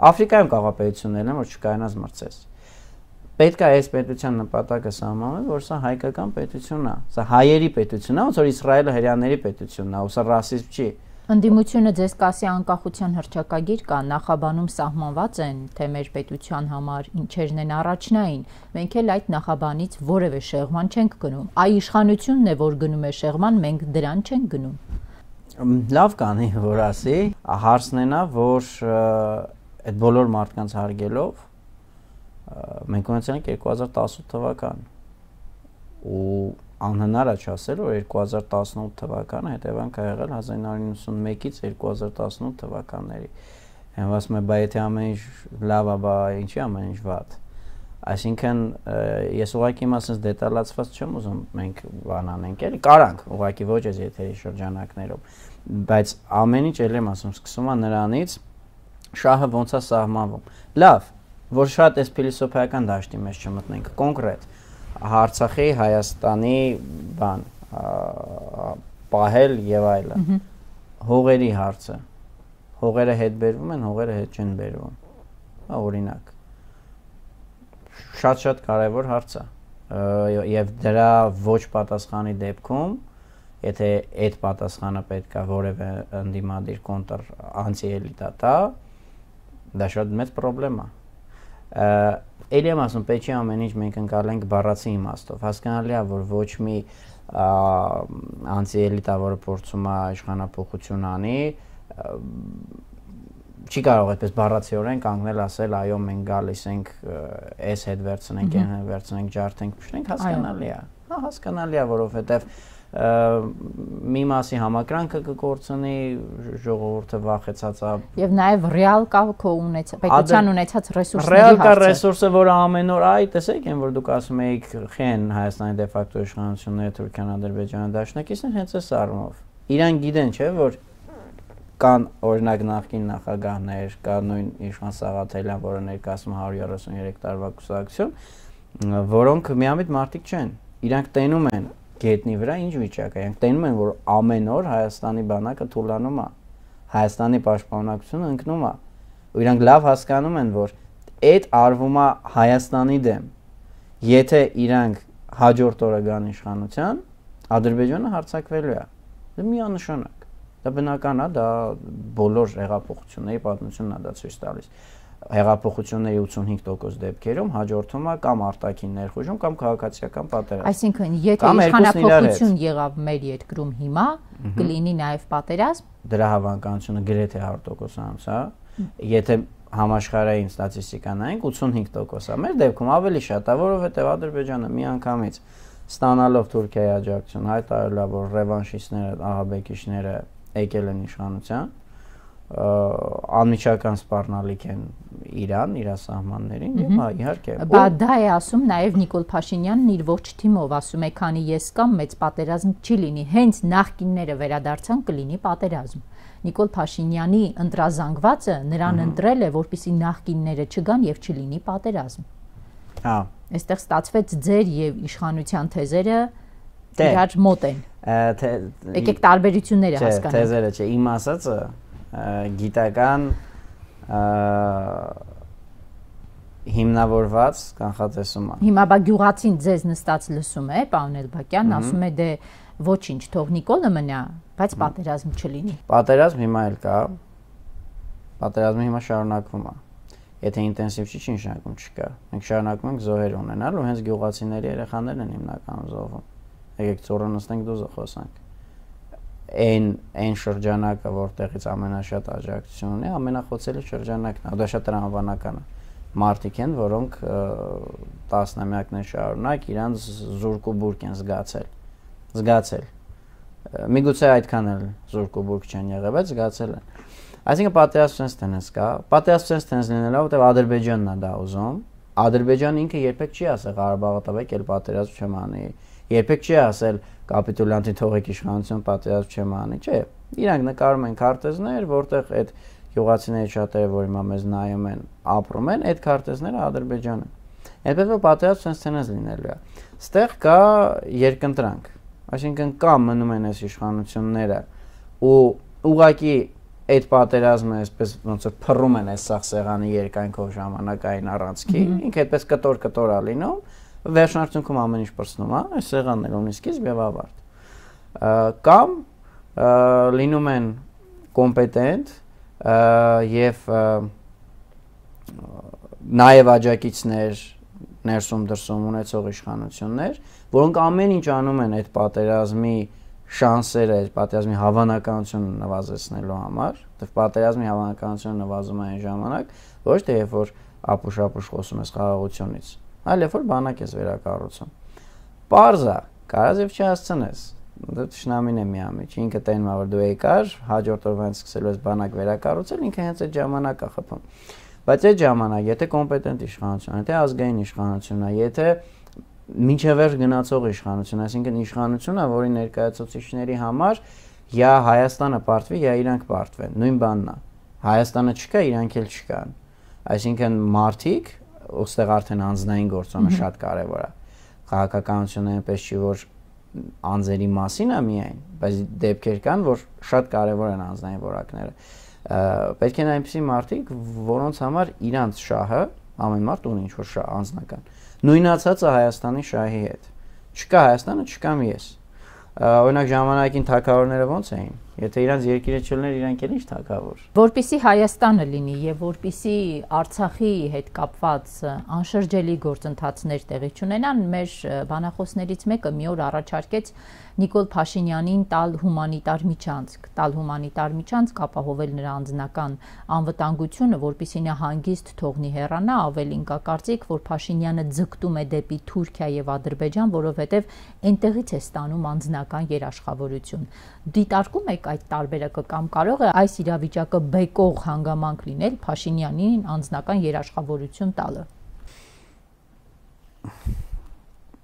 Աֆրիկայում կարող պետություններն են, որ չկայանաս մրցես։ Պետք է այս պետության նպատակը սահմանել, որ սա հայկական պետություն է, սա հայերի պետություն է, ոնց որ Իսրայելը հրեաների պետությունն է, ու սա ռասիզմ չի։ Ընդդիմությունը ձեզ կասի անկախության հռչակագիր կա, նախաբանում սահմանված են, թե մեր պետության համար ինչերն են առաջնային, մենք էլ այդ նախաբանից որևէ շեղման չենք գնում, այ իշխանությունն է, որ գնում է շեղման, մենք դրան չենք գնում։ Լավ կանի, որ ասի, հարցն է, որ այդ բոլոր մարդկանց հարգելով մենք ունեցել ենք երկու հազար տասնութ թվական ու անհնար է չասել, որ երկու հազար տասնութ թվականը հետևանք ա եղել հազար իննսուն նվեցից երկու հազար տասնութ թվականների։ Հենց ասում եմ, բա եթե ամեն ինչ լավ է, բա ինչի ամեն ինչ վատ։ Այսինքն ես ուղղակի մասից դետալացված չեմ ուզում մենք բան անենք, էլի կարանք, ուղղակի ոչ այս եթերի շրջանակներում, բայց ամեն ինչ էլ եմ ասում, սկսում է նրանից շահը ոնց է սահմանվում։ Լավ, որ շատ այս փիլիսոփայական դաշտի մեջ չմտնենք, կոնկրետ Արցախի, Հայաստանի բան պահել եւ այլն։ Հողերի հարցը։ Հողերը հետ բերվում են, հողերը հետ չեն բերվում։ Հա օրինակ։ Շատ-շատ կարևոր հարց է։ Եվ դրա ոչ պատասխանի դեպքում, եթե այդ պատասխանը պետք է որևէ ընդդիմադիր կոնտր անտիելիտա տա, դա շատ մեծ խնդրեմ է։ Էլի եմ ասում, պետք է ամեն ինչ մենք ընկալենք բառացի իմաստով։ Հասկանալի է, որ ոչ մի անտիելիտա, որը փորձում է իշխանափոխություն անի, չի կարող այդպես բառացիորեն կանգնել ասել, այո, մենք գալիս ենք, այս հետ վերցնենք, այն հետ վերցնենք, ջարդենք, փշնենք, հասկանալի է։ Հա, հասկանալի է, որովհետև մի մասի համակրանքը կկործնի, ժողովուրդը վախեցած է։ Եվ նաև ռեալ կա քո ունեցած, պետության ունեցած ռեսուրսների հարցը։ Ռեալ կա ռեսուրսը, որը ամեն օր, այ տեսեք, այն որ դուք ասում եք, խեն Հայաստանի դե ֆակտո իշխանությունները, Թուրքիան, Ադրբեջանը դաշնակիցն հենց այս առումով։ Իրան գիտեն, չէ՞, որ կան օրինակ նախկին նախագահներ, կա նույն Իշխան Սաղաթելյան, որը ներկայացնում հարյուր երեսուններեք տարվա կուսակցություն, որոնք միամիտ մարդիկ չեն։ Իրանք տենում են գետնի վրա ինչ վիճակ է։ Իրանք տենում են, որ ամեն օր Հայաստանի բանակը թուլանում է, Հայաստանի պաշտպանությունը ընկնում է։ Ու իրանք լավ հասկանում են, որ այդ արվում է Հայաստանի դեմ։ Եթե իրանք հաջորդ օրը գան իշխանության, Ադրբեջանը հարձակվելու է։ Դա միանշանակ։ Դա բնական է, դա բոլոր հեղափոխությունների պատմությունն է դա ցույց տալիս։ Հեղափոխությունների ութսունհինգ տոկոս դեպքերում հաջորդում է կամ արտաքին ներխուժում կամ քաղաքացիական պատերազմ։ Այսինքն, եթե իշխանափոխություն եղավ մեր երկրում հիմա, կլինի նաև պատերազմ։ Դրա հավանականությունը գրեթե հարյուր տոկոսանոց է։ Եթե համաշխարհային ստատիստիկա նայենք, ութսունհինգ տոկոս է։ Մեր դեպքում ավելի շատ է, որովհետև Ադրբեջանը միանգամից ստանալով Թուրքիայի աջակցություն հայտարարել է, որ ռևանշիստները, ահաբեկիչները եկել են իշխանության, անմիջական սպառնալիք են Իրան, իր սահմաններին եւ հա իհարկե։ Բա դա է ասում նաեւ Նիկոլ Փաշինյանն իր ողջ թիմով, ասում է, քանի ես կամ մեծ պատերազմ չի լինի, հենց նախկինները վերադարձան կլինի պատերազմ։ Նիկոլ Փաշինյանի ընտրազանգվածը նրան ընտրել է, որպեսզի նախկինները չգան եւ չլինի պատերազմ։ Հա։ Այստեղ ստացվեց ձեր եւ իշխանության թեզերը իրար մոտ են։ Եկեք տարբերությունները հասկանանք։ Թեզերը չէ, իմ ասածը գիտական հիմնավորված կանխատեսում է։ Հիմա բա գյուղացին ձեզ նստած լսում է, պարոն Էլբակյան, ասում է դե ոչինչ, թող Նիկոլը մնա, բայց պատերազմ չլինի։ Պատերազմ հիմա էլ կա։ Պատերազմը հիմա շարունակվում է։ Եթե ինտենսիվ չի, չի նշանակում չկա։ Մենք շարունակում ենք զոհեր ունենալ ու հենց գյուղացիների երեխաներն են հիմնականում զոհվում։ Եկեք ծորը նստենք դուզը խոսանք։ Այն այն շրջանակը, որտեղից ամենաշատ աջակցություն ունի, ամենախոցելի շրջանակն է, դա շատ տրամաբանական է։ Մարդիկ են, որոնք տասնամյակներ շարունակ իրանց զուրկ ու բուրկ են զգացել։ Զգացել։ Միգուցե այդքան էլ զուրկ ու բուրկ չեն եղել, բայց զգացել են։ Այսինքն պատերազմ sense tennis կա, պատերազմ sense tennis լինելով, որտեղ Ադրբեջանն է դա ուզում, Ադրբեջանը ինքը երբեք չի ասել Ղարաբաղը տվեք, էլ պատերազմ չեմ անի։ Երբեք չի ասել կապիտուլյանտի թողեք իշխանություն, պատերազմ չեմ անի, չէ։ Իրանք նկարում են քարտեզներ, որտեղ այդ գյուղացիների շատերը, որ հիմա մեզ նայում են, ապրում են, այդ քարտեզները Ադրբեջանը։ Այնպես որ պատերազմ sense լինելու է։ Ստեղ կա երկընտրանք, այսինքն կամ մնում են այս իշխանությունները ու ուղղակի այդ պատերազմը այսպես ոնց որ փռում են այս սաղ սեղանի երկայնքով ժամանակային առանցքի, ինքը այդպես կտոր-կտոր է լինում, վերջնարդյունքում ամեն ինչ պրծնում է, այս սեղանն էլ ունի սկիզբ եւ ավարտ։ Կամ լինում են կոմպետենտ եւ նաեւ աջակիցներ ներսում դրսում ունեցող իշխանություններ, որոնք ամեն ինչ անում են այդ պատերազմի շանսերը, այդ պատերազմի հավանականությունը նվազեցնելու համար, դեռ պատերազմի հավանականությունը նվազում է այն ժամանակ, ոչ թե երբ որ ապուշ-ապուշ խոսում ես խաղաղությունից, այլ երբ որ բանակ ես վերակառուցում։ Պարզա, կարած եւ չհասցնես։ Դա ճշնամին է միամիջ, ինքը տենում է որ դու եկար, հաջորդ օրվանից սկսելու ես բանակ վերակառուցել, ինքը հենց այդ ժամանակ է խփում։ Բայց այդ ժամանակ, եթե կոմպետենտ իշխանություն, եթե ազգային իշխանություն է, եթե մինչև վերջ գնացող իշխանություն, այսինքն իշխանությունը, որի ներկայացուցիչների համար յա Հայաստանը պարտվի, յա իրանք պարտվեն, նույն բանն է։ Հայաստանը չկա, իրանք էլ չկան։ Այսինքն մարդիկ, ուստեղ արդեն անձնային գործոնը շատ կարևոր է։ Քաղաքականությունը այնպես չի, որ անձերի մասին է միայն, բայց դեպքեր կան, որ շատ կարևոր են անձնային որակները։ Պետք է այնպիսի մարդիկ, որոնց համար իրանց շահը, ամեն մարդ ունի ինչ-որ շահ անձնական, նույնացած է Հայաստանի շահի հետ։ Չկա Հայաստանը, չկամ ես։ Օրինակ ժամանակին թագավորները ոնց էին։ Եթե իրանց երկիրը չլներ, իրանք էլ ինչ թագավոր։ Որպեսզի Հայաստանը լինի եւ որպեսզի Արցախի հետ կապված անշրջելի գործընթացներ տեղի ունենան, մեր բանախոսներից մեկը մի օր առաջարկեց Նիկոլ Փաշինյանին տալ հումանիտար միջանցք, տալ հումանիտար միջանցք, ապահովել նրա անձնական անվտանգությունը, որպեսզի նա հանգիստ թողնի հեռանա, ավելին կա կարծիք, որ Փաշինյանը ձգտում է դեպի Թուրքիա եւ Ադրբեջան, որովհետեւ այնտեղից է ստանում անձնական երաշխավորություն։ Դիտարկում եք այդ տարբերակը կամ կարող է այս իրավիճակը բեկող հանգամանք լինել Փաշինյանին անձնական երաշխավորություն տալը։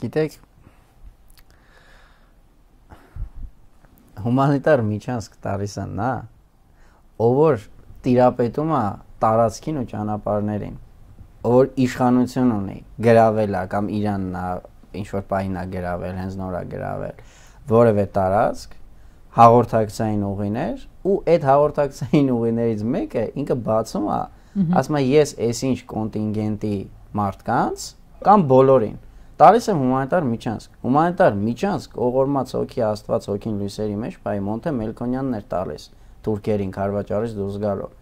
Գիտեք, հումանիտար միջանցք տալիս են նա, ով որ տիրապետում է տարածքին ու ճանապարհներին, ով որ իշխանություն ունի, գրավել է կամ Իրանն է ինչ որ պահին է գրավել, հենց նոր է գրավել, որևէ տարածք, հաղորդակցային ուղիներ ու այդ հաղորդակցային ուղիներից մեկը ինքը բացում է, ասում է ես այսինչ կոնտինգենտի մարդկանց կամ բոլորին տալիս եմ հումանիտար միջանցք։ Հումանիտար միջանցք ողորմած հոգի Աստված հոգին լույսերի մեջ բայ Մոնթե Մելքոնյանն էր տալիս թուրքերին Քարվաճարից դուրս գալով,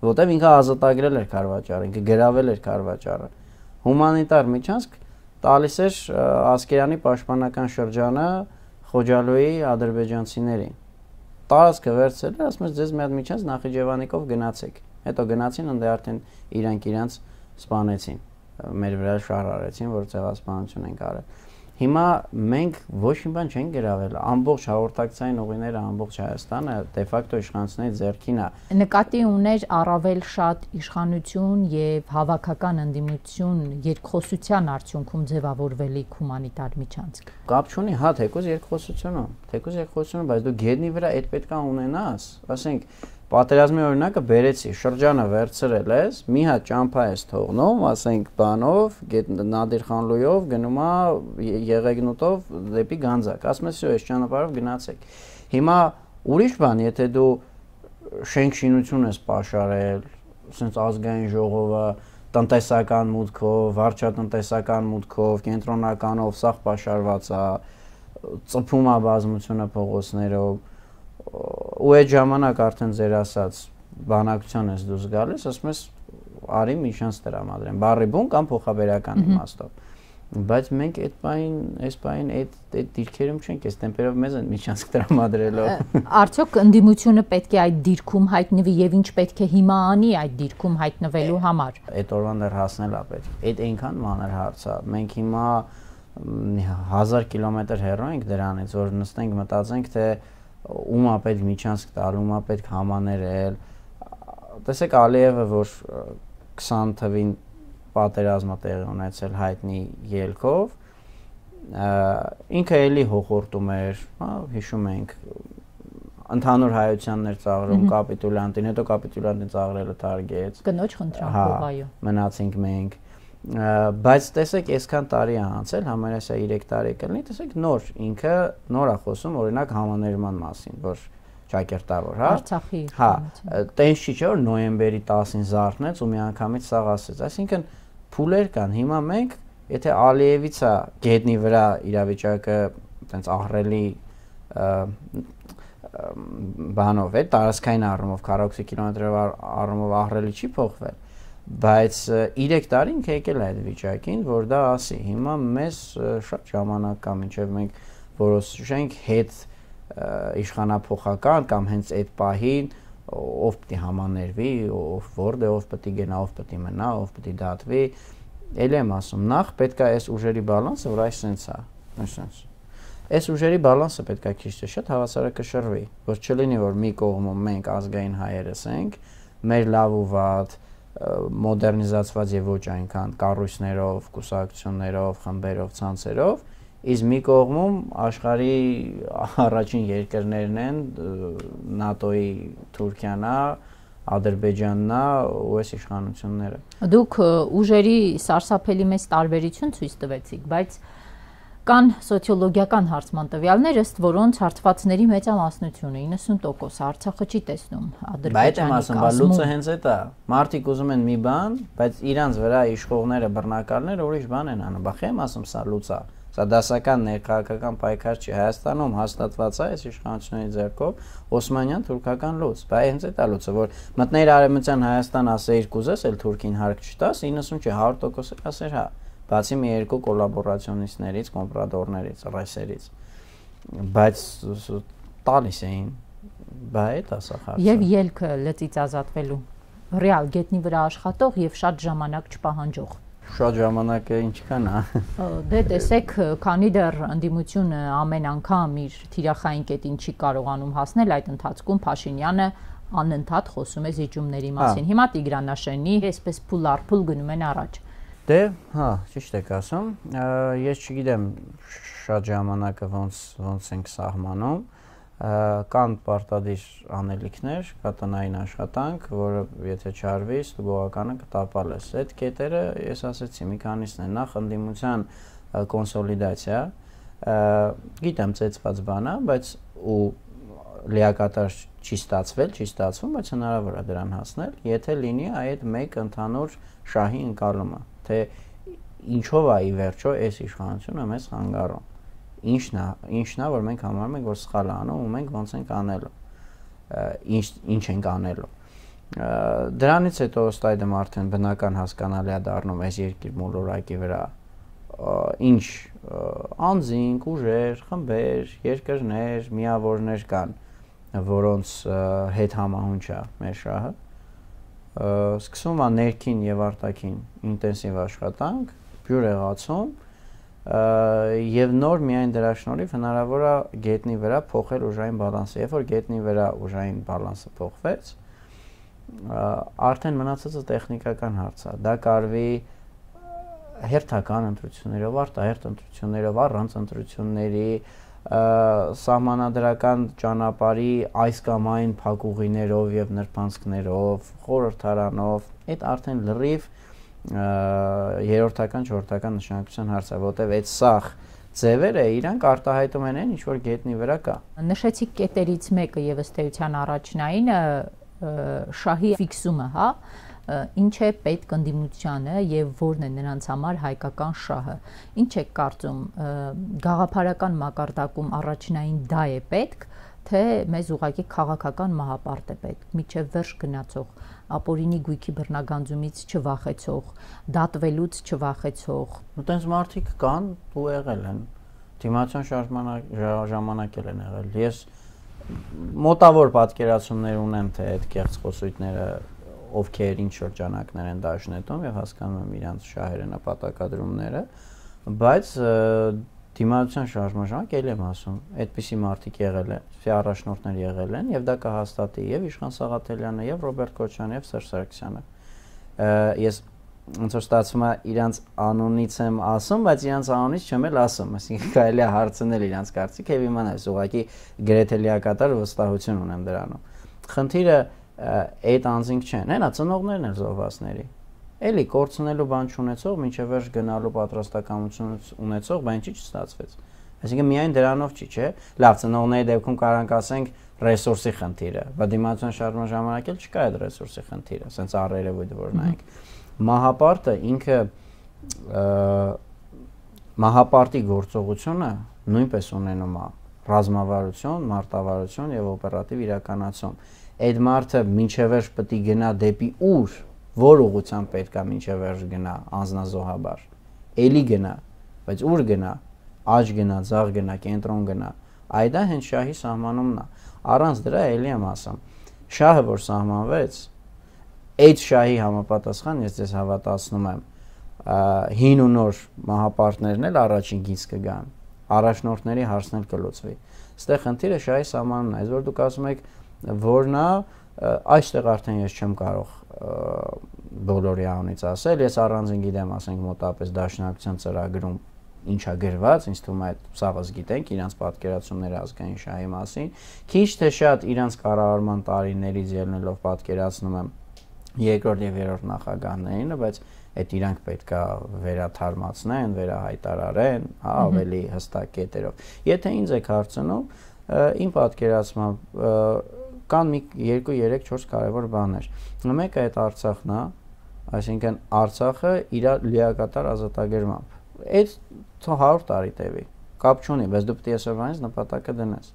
որտեղ ինքը ազատագրել էր Քարվաճարը, ինքը գրավել էր Քարվաճարը։ Հումանիտար միջանցք տալիս էր Ասկերանի պաշտպանական շրջանը Խոջալոյի ադրբեջանցիներին։ Տարածքը վերցրել էր, ասում ես ձեզ մի հատ միջանց Նախիջևանիկով գնացեք։ Հետո գնացին, ընդ արդեն իրանք իրանց սպանեցին, մեր վրա շահ արեցին, որ ցեղասպանություն են արել։ Հիմա մենք ոչ մի բան չենք գրավել, ամբողջ հաղորդակցային ուղիները ամբողջ Հայաստանը դե ֆակտո իշխանությունների ձեռքին է։ Նկատի ուներ առավել շատ իշխանություն եւ հավաքական ընդդիմություն երկխոսության արդյունքում ձևավորվելիք հումանիտար միջանցք։ Կապ չունի, հա, թեկուզ երկխոսությունը, թեկուզ երկխոսությունը, բայց դու գետնի վրա այդ պետքա ունենաս, ասենք պատերազմի օրինակը բերեցի, շրջանը վերցրել ես, մի հատ ճամփա ես թողնում, ասենք բանով, Նադիր Խանլույով գնում է Եղեգնուտով դեպի Գանձակ, ասում ես, այս ճանապարհով գնացեք։ Հիմա ուրիշ բան, եթե դու շենք-շինություն ես պաշարել, ասենց ազգային ժողովը տնտեսական մուտքով, վարչատնտեսական մուտքով, կենտրոնականով սաղ պաշարված է, ծփում է բազմությունը փողոցներով, ու այդ ժամանակ արդեն ձեր ասած բանակցության ես դուրս գալիս, ասում ես արի միջանց տրամադրեմ, բառի բուն կամ փոխաբերական իմաստով։ Բայց մենք այդ բային, այս բային այդ այդ դիրքերում չենք, այս տեմպերով մեզ են միջանցք տրամադրելով։ Արդյոք ընդդիմությունը պետք է այդ դիրքում հայտնվի եւ ինչ պետք է հիմա անի այդ դիրքում հայտնվելու համար։ Այդ օրվան դեռ հասնել է պետք։ Այդ այնքան մանր հարց է։ Մենք հիմա հազար կիլոմետր հեռու ենք դրանից, որ նստենք մտածենք, թե ում է պետք միջանցք տալ, ում է պետք համաներել։ Տեսեք Ալիևը, որ քսան թվին պատերազմը տեղի ունեցել հայտնի ելքով, ինքը էլի հոխորտում էր, հա, հիշում ենք, ընդհանուր հայությաններ ծաղրում կապիտուլյանտին, հետո կապիտուլյանտին ծաղրելը թարգեց։ Կնոջ խնդրանքով, այո։ Մնացինք մենք։ Բայց տեսեք, այսքան տարի է անցել, համարյա երեք տարի կլինի, տեսեք նոր ինքը նոր է խոսում օրինակ համաներման մասին, որ ճակերտավոր, հա։ Արցախի։ Հա, տենց չի չէ որ նոյեմբերի տասին զարթնեց ու միանգամից սաղ ասեց, այսինքն փուլեր կան, հիմա մենք, եթե Ալիևից է գետնի վրա իրավիճակը տենց ահռելի բանով է, տարածքային առումով, քառակուսի կիլոմետրով առումով ահռելի չի փոխվել, բայց երեք տարի ինքը եկել է այդ վիճակին, որ դա ասի, հիմա մեզ շատ ժամանակ կա, մինչև մենք որոշենք հետ իշխանափոխական կամ հենց այդ պահին ով պետք է համաներվի, ով որտե ով պետք է գնա, ով պետք է մնա, ով պետք է դատվի, էլ եմ ասում, նախ պետք է այս ուժերի բալանսը, որ այս սենց է, այսպես Այս ուժերի բալանսը պետք է քիչ թե շատ հավասարակշռվի, որ չլինի որ մի կողմում մենք ազգային հայերս ենք, մեր լավ ու վատ, մոդեռնիզացված եւ ոչ այնքան կառույցներով, կուսակցություններով, խմբերով, ցանցերով, իսկ մի կողմում աշխարհի առաջին երկրներն են ՆԱՏՕ-ի Թուրքիան է, Ադրբեջանն է ու այս իշխանությունները։ Դուք ուժերի սարսափելի մեծ տարբերություն ցույց տվեցիք, բայց կան սոցիոլոգիական հարցման տվյալներ, ըստ որոնց հարցվածների մեծամասնությունը իննսուն տոկոս Արցախը չի տեսնում Ադրբեջանի կազմում։ Բայց լուծը հենց այդ է։ Մարդիկ ուզում են մի բան, բայց իրանց վրա իշխողները, բռնակալները ուրիշ բան են անում։ Բախ եմ ասում, սա լուծ է։ Սա դասական ներքաղաքական պայքար չի։ Հայաստանում հաստատված է այս իշխանությունների ձեռքով օսմանյան թուրքական լուծ։ Բայց հենց այդ է լուծը, որ մտներ Արևմտյան Հայաստան ասեիր կուզես, էլ Թուրքին հարկ չտաս, իննսուն չի, հարյուր տոկոս ասեր հա։ Բացի մի երկու կոլաբորացիոնիստներից, կոմպրադորներից, ռեսերից, բայց տալիս էին, բայց ասախարցը։ Եվ ելքը լծից ազատվելու, ռեալ գետնի վրա աշխատող եւ շատ ժամանակ չպահանջող։ Շատ ժամանակը ինչ կան, հա։ Դե տեսեք, քանի դեռ ընդդիմությունը ամեն անգամ իր թիրախային կետին չի կարողանում հասնել, այդ ընթացքում Փաշինյանը անընդհատ խոսում է զիջումների մասին։ Հիմա Տիգրանաշենի այսպես փուլ առ փուլ գնում են առաջ։ Դե, հա, ճիշտ եք ասում, ես չգիտեմ շատ ժամանակը ոնց ոնց ենք սահմանում, կան պարտադիր անելիքներ, կա տնային աշխատանք, որը եթե չարվի, ստուգողականը կտապալես։ Այդ կետերը, ես ասեցի, մի քանիսն են, նախ ընդդիմության կոնսոլիդացիա, գիտեմ ծեծված բան է, բայց ու լիակատար չի ստացվել, չի ստացվում, բայց հնարավոր է դրան հասնել, եթե լինի այդ մեկ ընդհանուր շահի ընկալումը, թե ինչով է ի վերջո այս իշխանությունը մեզ խանգարում։ Ինչն է, ինչն է, որ մենք համարում ենք, որ սխալ է անում ու մենք ոնց ենք անելու։ Ինչ ինչ ենք անելու։ Դրանից հետո ըստ այդմ արդեն բնական հասկանալի է դառնում այս երկիր մոլորակի վրա ինչ անձինք, ուժեր, խմբեր, երկրներ, միավորներ կան, որոնց հետ համահունչ է մեր շահը։ Սկսում է ներքին եւ արտաքին ինտենսիվ աշխատանք, բյուրեղացում եւ նոր միայն դրա շնորհիվ հնարավոր է գետնի վրա փոխել ուժային բալանսը։ Երբ որ գետնի վրա ուժային բալանսը փոխվեց, արդեն մնացածը տեխնիկական հարց է։ Դա կարվի հերթական ընտրություններով, արտահերթ ընտրություններով, առանց ընտրությունների, սահմանադրական ճանապարհի այս կամ այն փակուղիներով եւ նրբանցքներով, խորհրդարանով, այդ արդեն լրիվ երրորդական, չորրորդական նշանակության հարց է, որտեղ այդ սախ ձևերը իրանք արտահայտում են այն, ինչ որ գետնի վրա կա։ Նշեցիք կետերից մեկը եւ ըստ էության առաջնայինը շահի ֆիքսումը, հա, ինչ է պետք ընդդիմությանը եւ որն է նրանց համար հայկական շահը։ Ինչ եք կարծում, գաղափարական մակարդակում առաջնային դա է պետք, թե մեզ ուղղակի քաղաքական մահապարտ է պետք, միջև վերջ գնացող, ապօրինի գույքի բռնագանձումից չվախեցող, դատվելուց չվախեցող։ Այդպես մարդիկ կան ու եղել են։ Դիմացիոն ժամանակ են եղել։ Ես մոտավոր պատկերացումներ ունեմ, թե այդ կեղծ խոսույթները ովքեր ինչ շրջանակներ են դաշնետում եւ հասկանում եմ իրանց շահերը նպատակադրումները, բայց դիմացիոն շարժման ել եմ ասում, այդպիսի մարդիկ եղել են, ֆի առաջնորդներ եղել են եւ դա կհաստատի եւ Իշխան Սաղաթելյանը եւ Ռոբերտ Քոչարյանը եւ Սերժ Սարգսյանը։ Ես ոնց որ ստացվում է իրանց անունից եմ ասում, բայց իրանց անունից չեմ էլ ասում, այսինքն կարելի է հարցնել իրանց կարծիքը եւ իմանալ, ուղղակի գրեթե լիակատար վստահություն ունեմ դրանում։ Խնդիրը այդ անձինք չեն, հենա ծնողներն են զոհվածների։ Էլի կորցնելու բան չունեցող, մինչև վերջ գնալու պատրաստակամություն ունեցող, բան չի չստացվեց։ Այսինքն միայն դրանով չի, չէ՞։ Լավ, ծնողների դեպքում կարանք ասենք ռեսուրսի խնդիրը, բայց դիմացան շարժման ժամանակ էլ չկա այդ ռեսուրսի խնդիրը, ասենց առերևույթ որ նայենք։ Մահապարտը ինքը մահապարտի գործողությունը նույնպես ունենում է ռազմավարություն, մարտավարություն եւ օպերատիվ իրականացում։ Այդ մարդը մինչև վերջ պետք է գնա դեպի ուր, որ ուղղությամբ պետք է մինչև վերջ գնա անձնազոհաբար։ Էլի գնա, բայց ուր գնա, աջ գնա, ձախ գնա, կենտրոն գնա։ Այդ է հենց շահի սահմանումն է։ Առանց դրա էլի եմ ասում։ Շահը որ սահմանվեց, այդ շահի համապատասխան ես ձեզ հավատացնում եմ, հին ու նոր մահապարտներն էլ առաջին գից կգան, առաջնորդների հարցն էլ կլուծվի։ Այստեղ խնդիրը շահի սահմանումն է, այսօր դուք ասում եք որն է, այստեղ արդեն ես չեմ կարող բոլորի անունից ասել, ես առանձին գիտեմ, ասենք մոտապես դաշնակցության ծրագրում ինչա գրված, ինձ թվում է այդ սաղս գիտենք իրանց պատկերացումները ազգային շահի մասին, քիչ թե շատ իրանց կառավարման տարիներից ելնելով պատկերացնում եմ երկրորդ եւ երրորդ նախագահներին, բայց այդ իրանք պետքա վերաթարմացնեն, վերահայտարարեն, հա, ավելի հստակ կետերով։ Եթե ինձ եք հարցնում, իմ պատկերացմամբ կան մի երկու, երեք, չորս կարևոր բաներ։ Մեկը այդ Արցախն է, այսինքն Արցախը իր լիակատար ազատագրմամբ։ Այդ հարյուր տարի տևի, կապ չունի, բայց դու պետք է այսօրվանից նպատակը դնես։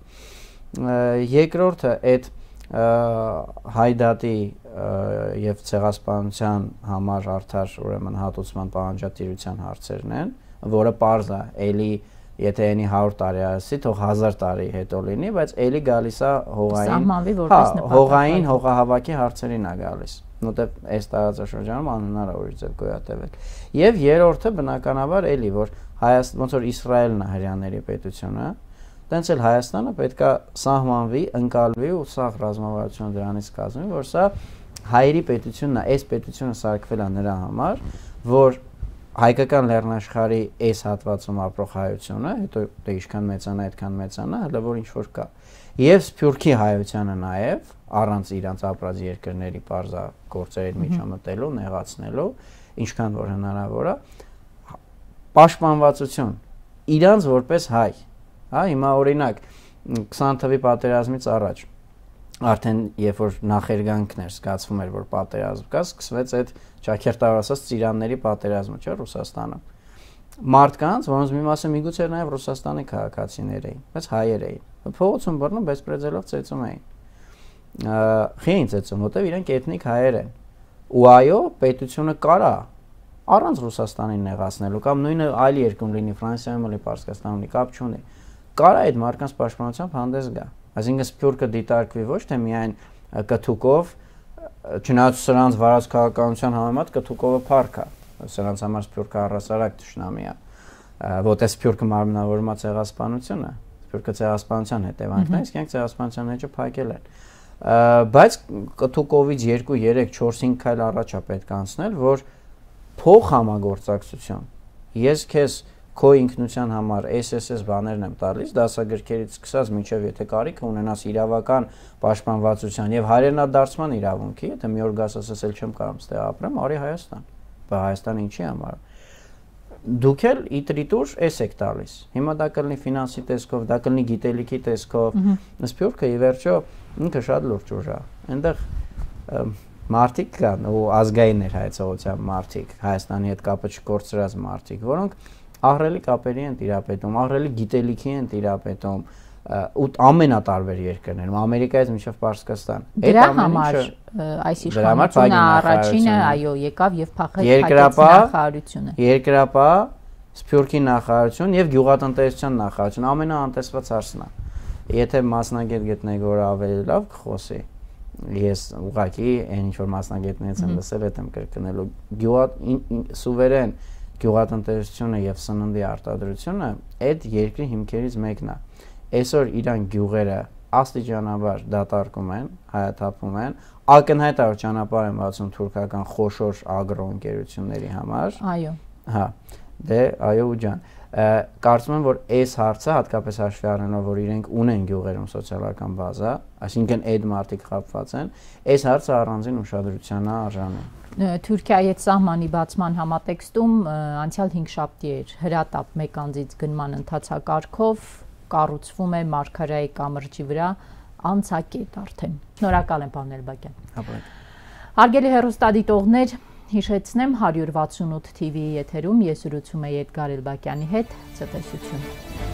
Երկրորդը այդ հայդատի եւ ցեղասպանության համար արդար ուրեմն հատուցման պահանջատիրության հարցերն են, որը պարզ է, էլի եթե այնի հարյուր տարի ասի, թող հազար տարի հետո լինի, բայց էլի գալիս է հողային, հա, հողային հողահավաքի հարցերին է գալիս։ Նոթեւ այս տարածաշրջանում անհնարավոր է գոյատևել։ Եվ երրորդը բնականաբար էլի, որ Հայաստան, ոնց որ Իսրայելն է հрьяաների պետությունը, տենց էլ Հայաստանը պետքա սահմանվի, ընկալվի ու սա ռազմավարությունը դրանից կազմի, որ սա հայերի պետությունն է, այս պետությունը սարքվել է նրա համար, որ հայկական լեռնաշխարհի այս հատվածում ապրող հայությունը, հետո դե ինչքան մեծանա, այդքան մեծանա, հələ որ ինչ որ կա։ Եվ Սփյուռքի հայությանը նաև առանց իրանց ապրած երկրների բարձա գործերի միջամտելու, նեղացնելու, ինչքան որ հնարավոր է, պաշտպանվածություն իրանց որպես հայ, հա, հիմա օրինակ քսան թվականի պատերազմից առաջ արդեն երբ որ նախերգանքն էր զգացվում էր որ պատերազմ կա, սկսվեց այդ ճաքերտավոր ասած ծիրանների պատերազմը, չէ՞, Ռուսաստանում։ Մարդկանց, որոնց մի մասը միգուցե նաև Ռուսաստանի քաղաքացիներ էին, բայց հայեր էին։ Փողոցում բռնում բեսպրեդելով ծեծում էին։ Խի էին ծեծում, որտեվ իրենք էթնիկ հայեր են։ Ու այո, պետությունը կարա առանց Ռուսաստանին նեղացնելու կամ նույնը այլ երկրում լինի, Ֆրանսիայում լինի, Պարսկաստանում լինի, կապ չունի։ Կարա այդ մարդկանց պաշտպանությամբ հանդես գա։ Այսինքն Սփյուռքը դիտարկվի ոչ թե միայն կթուկով, չնայած սրանց վարած քաղաքականության համեմատ կթուկովը փառք է, սրանց համար Սփյուռքը առասարակ թշնամի է, որտեղ Սփյուռքը մարմնավորում է ցեղասպանությունը, Սփյուռքը ցեղասպանության հետևանքն է, իսկ իրենք ցեղասպանության էջը փակել են։ Բայց կթուկովից երկու, երեք, չորս, հինգ քայլ առաջ է պետք անցնել, որ փող համագործակցություն։ Ես քեզ քո ինքնության համար էս էս էս բաներն եմ տալիս, դասագրքերից սկսած մինչև եթե կարիք ունենաս իրավական պաշտպանվածության եւ հայրենադարձման իրավունքի, եթե մի օր գաս ասես էլ չեմ կարող ստեղ ապրեմ, արի Հայաստան։ Բայց Հայաստանը ինչի համար։ Դուք էլ իտրիտուր էս եք տալիս։ Հիմա դա կլինի ֆինանսի տեսքով, դա կլինի գիտելիքի տեսքով։ Սփյուռքը ի վերջո ինքը շատ լուրջ ուժ է։ Այնտեղ մարդիկ կան ու ազգային ներհայեցողության մարդիկ, Հայաստանի հետ կապը չկորցրած մարդիկ, որոնք ահռելի կապերի են տիրապետում, ահռելի գիտելիքի են տիրապետում ու ամենատարբեր երկրներում, Ամերիկայից մինչև Պարսկաստան։ Դրա համար այս իշխանությունը առաջինը, այո, եկավ եւ փախեց նախարարությունը։ Երկրապահ, Սփյուռքի նախարարություն եւ գյուղատնտեսության նախարարություն ամենաանտեսված հարցն է։ Եթե մասնագետ գտնեք, որ ավելի լավ կխոսի, ես ուղղակի այն ինչ որ մասնագետներից եմ լսել, այդ եմ կրկնելու։ Գյուղա սուվերեն գյուղատնտեսությունը եւ սննդի արտադրությունը այդ երկրի հիմքերից մեկն է։ Այսօր իրան գյուղերը աստիճանաբար դատարկում են, հայաթափում են, ակնհայտորեն ճանապարհ են բացում թուրքական խոշոր ագրո ընկերությունների համար։ Այո։ Հա, դե այո ու ջան։ Կարծում եմ, որ այս հարցը հատկապես հաշվի առնելով, որ իրենք ունեն գյուղերում սոցիալական բազա, այսինքն այդ մարդիկ խապված են, այս հարցը առանձին ուշադրության է արժանի։ Թուրքիայի հետ սահմանի բացման համատեքստում անցյալ հինգշաբթի էր հրատապ մեկ անձից գնման ընթացակարգով կառուցվում է Մարգարայի կամրջի վրա անցակետ արդեն։ Շնորհակալ եմ, պարոն Էլբակյան։ Հարգելի հեռուստադիտողներ, հիշեցնեմ հարյուր վաթսունութ թիվիի եթերում ես զրուցում եի Էդգար Էլբակյանի հետ, ցտեսություն։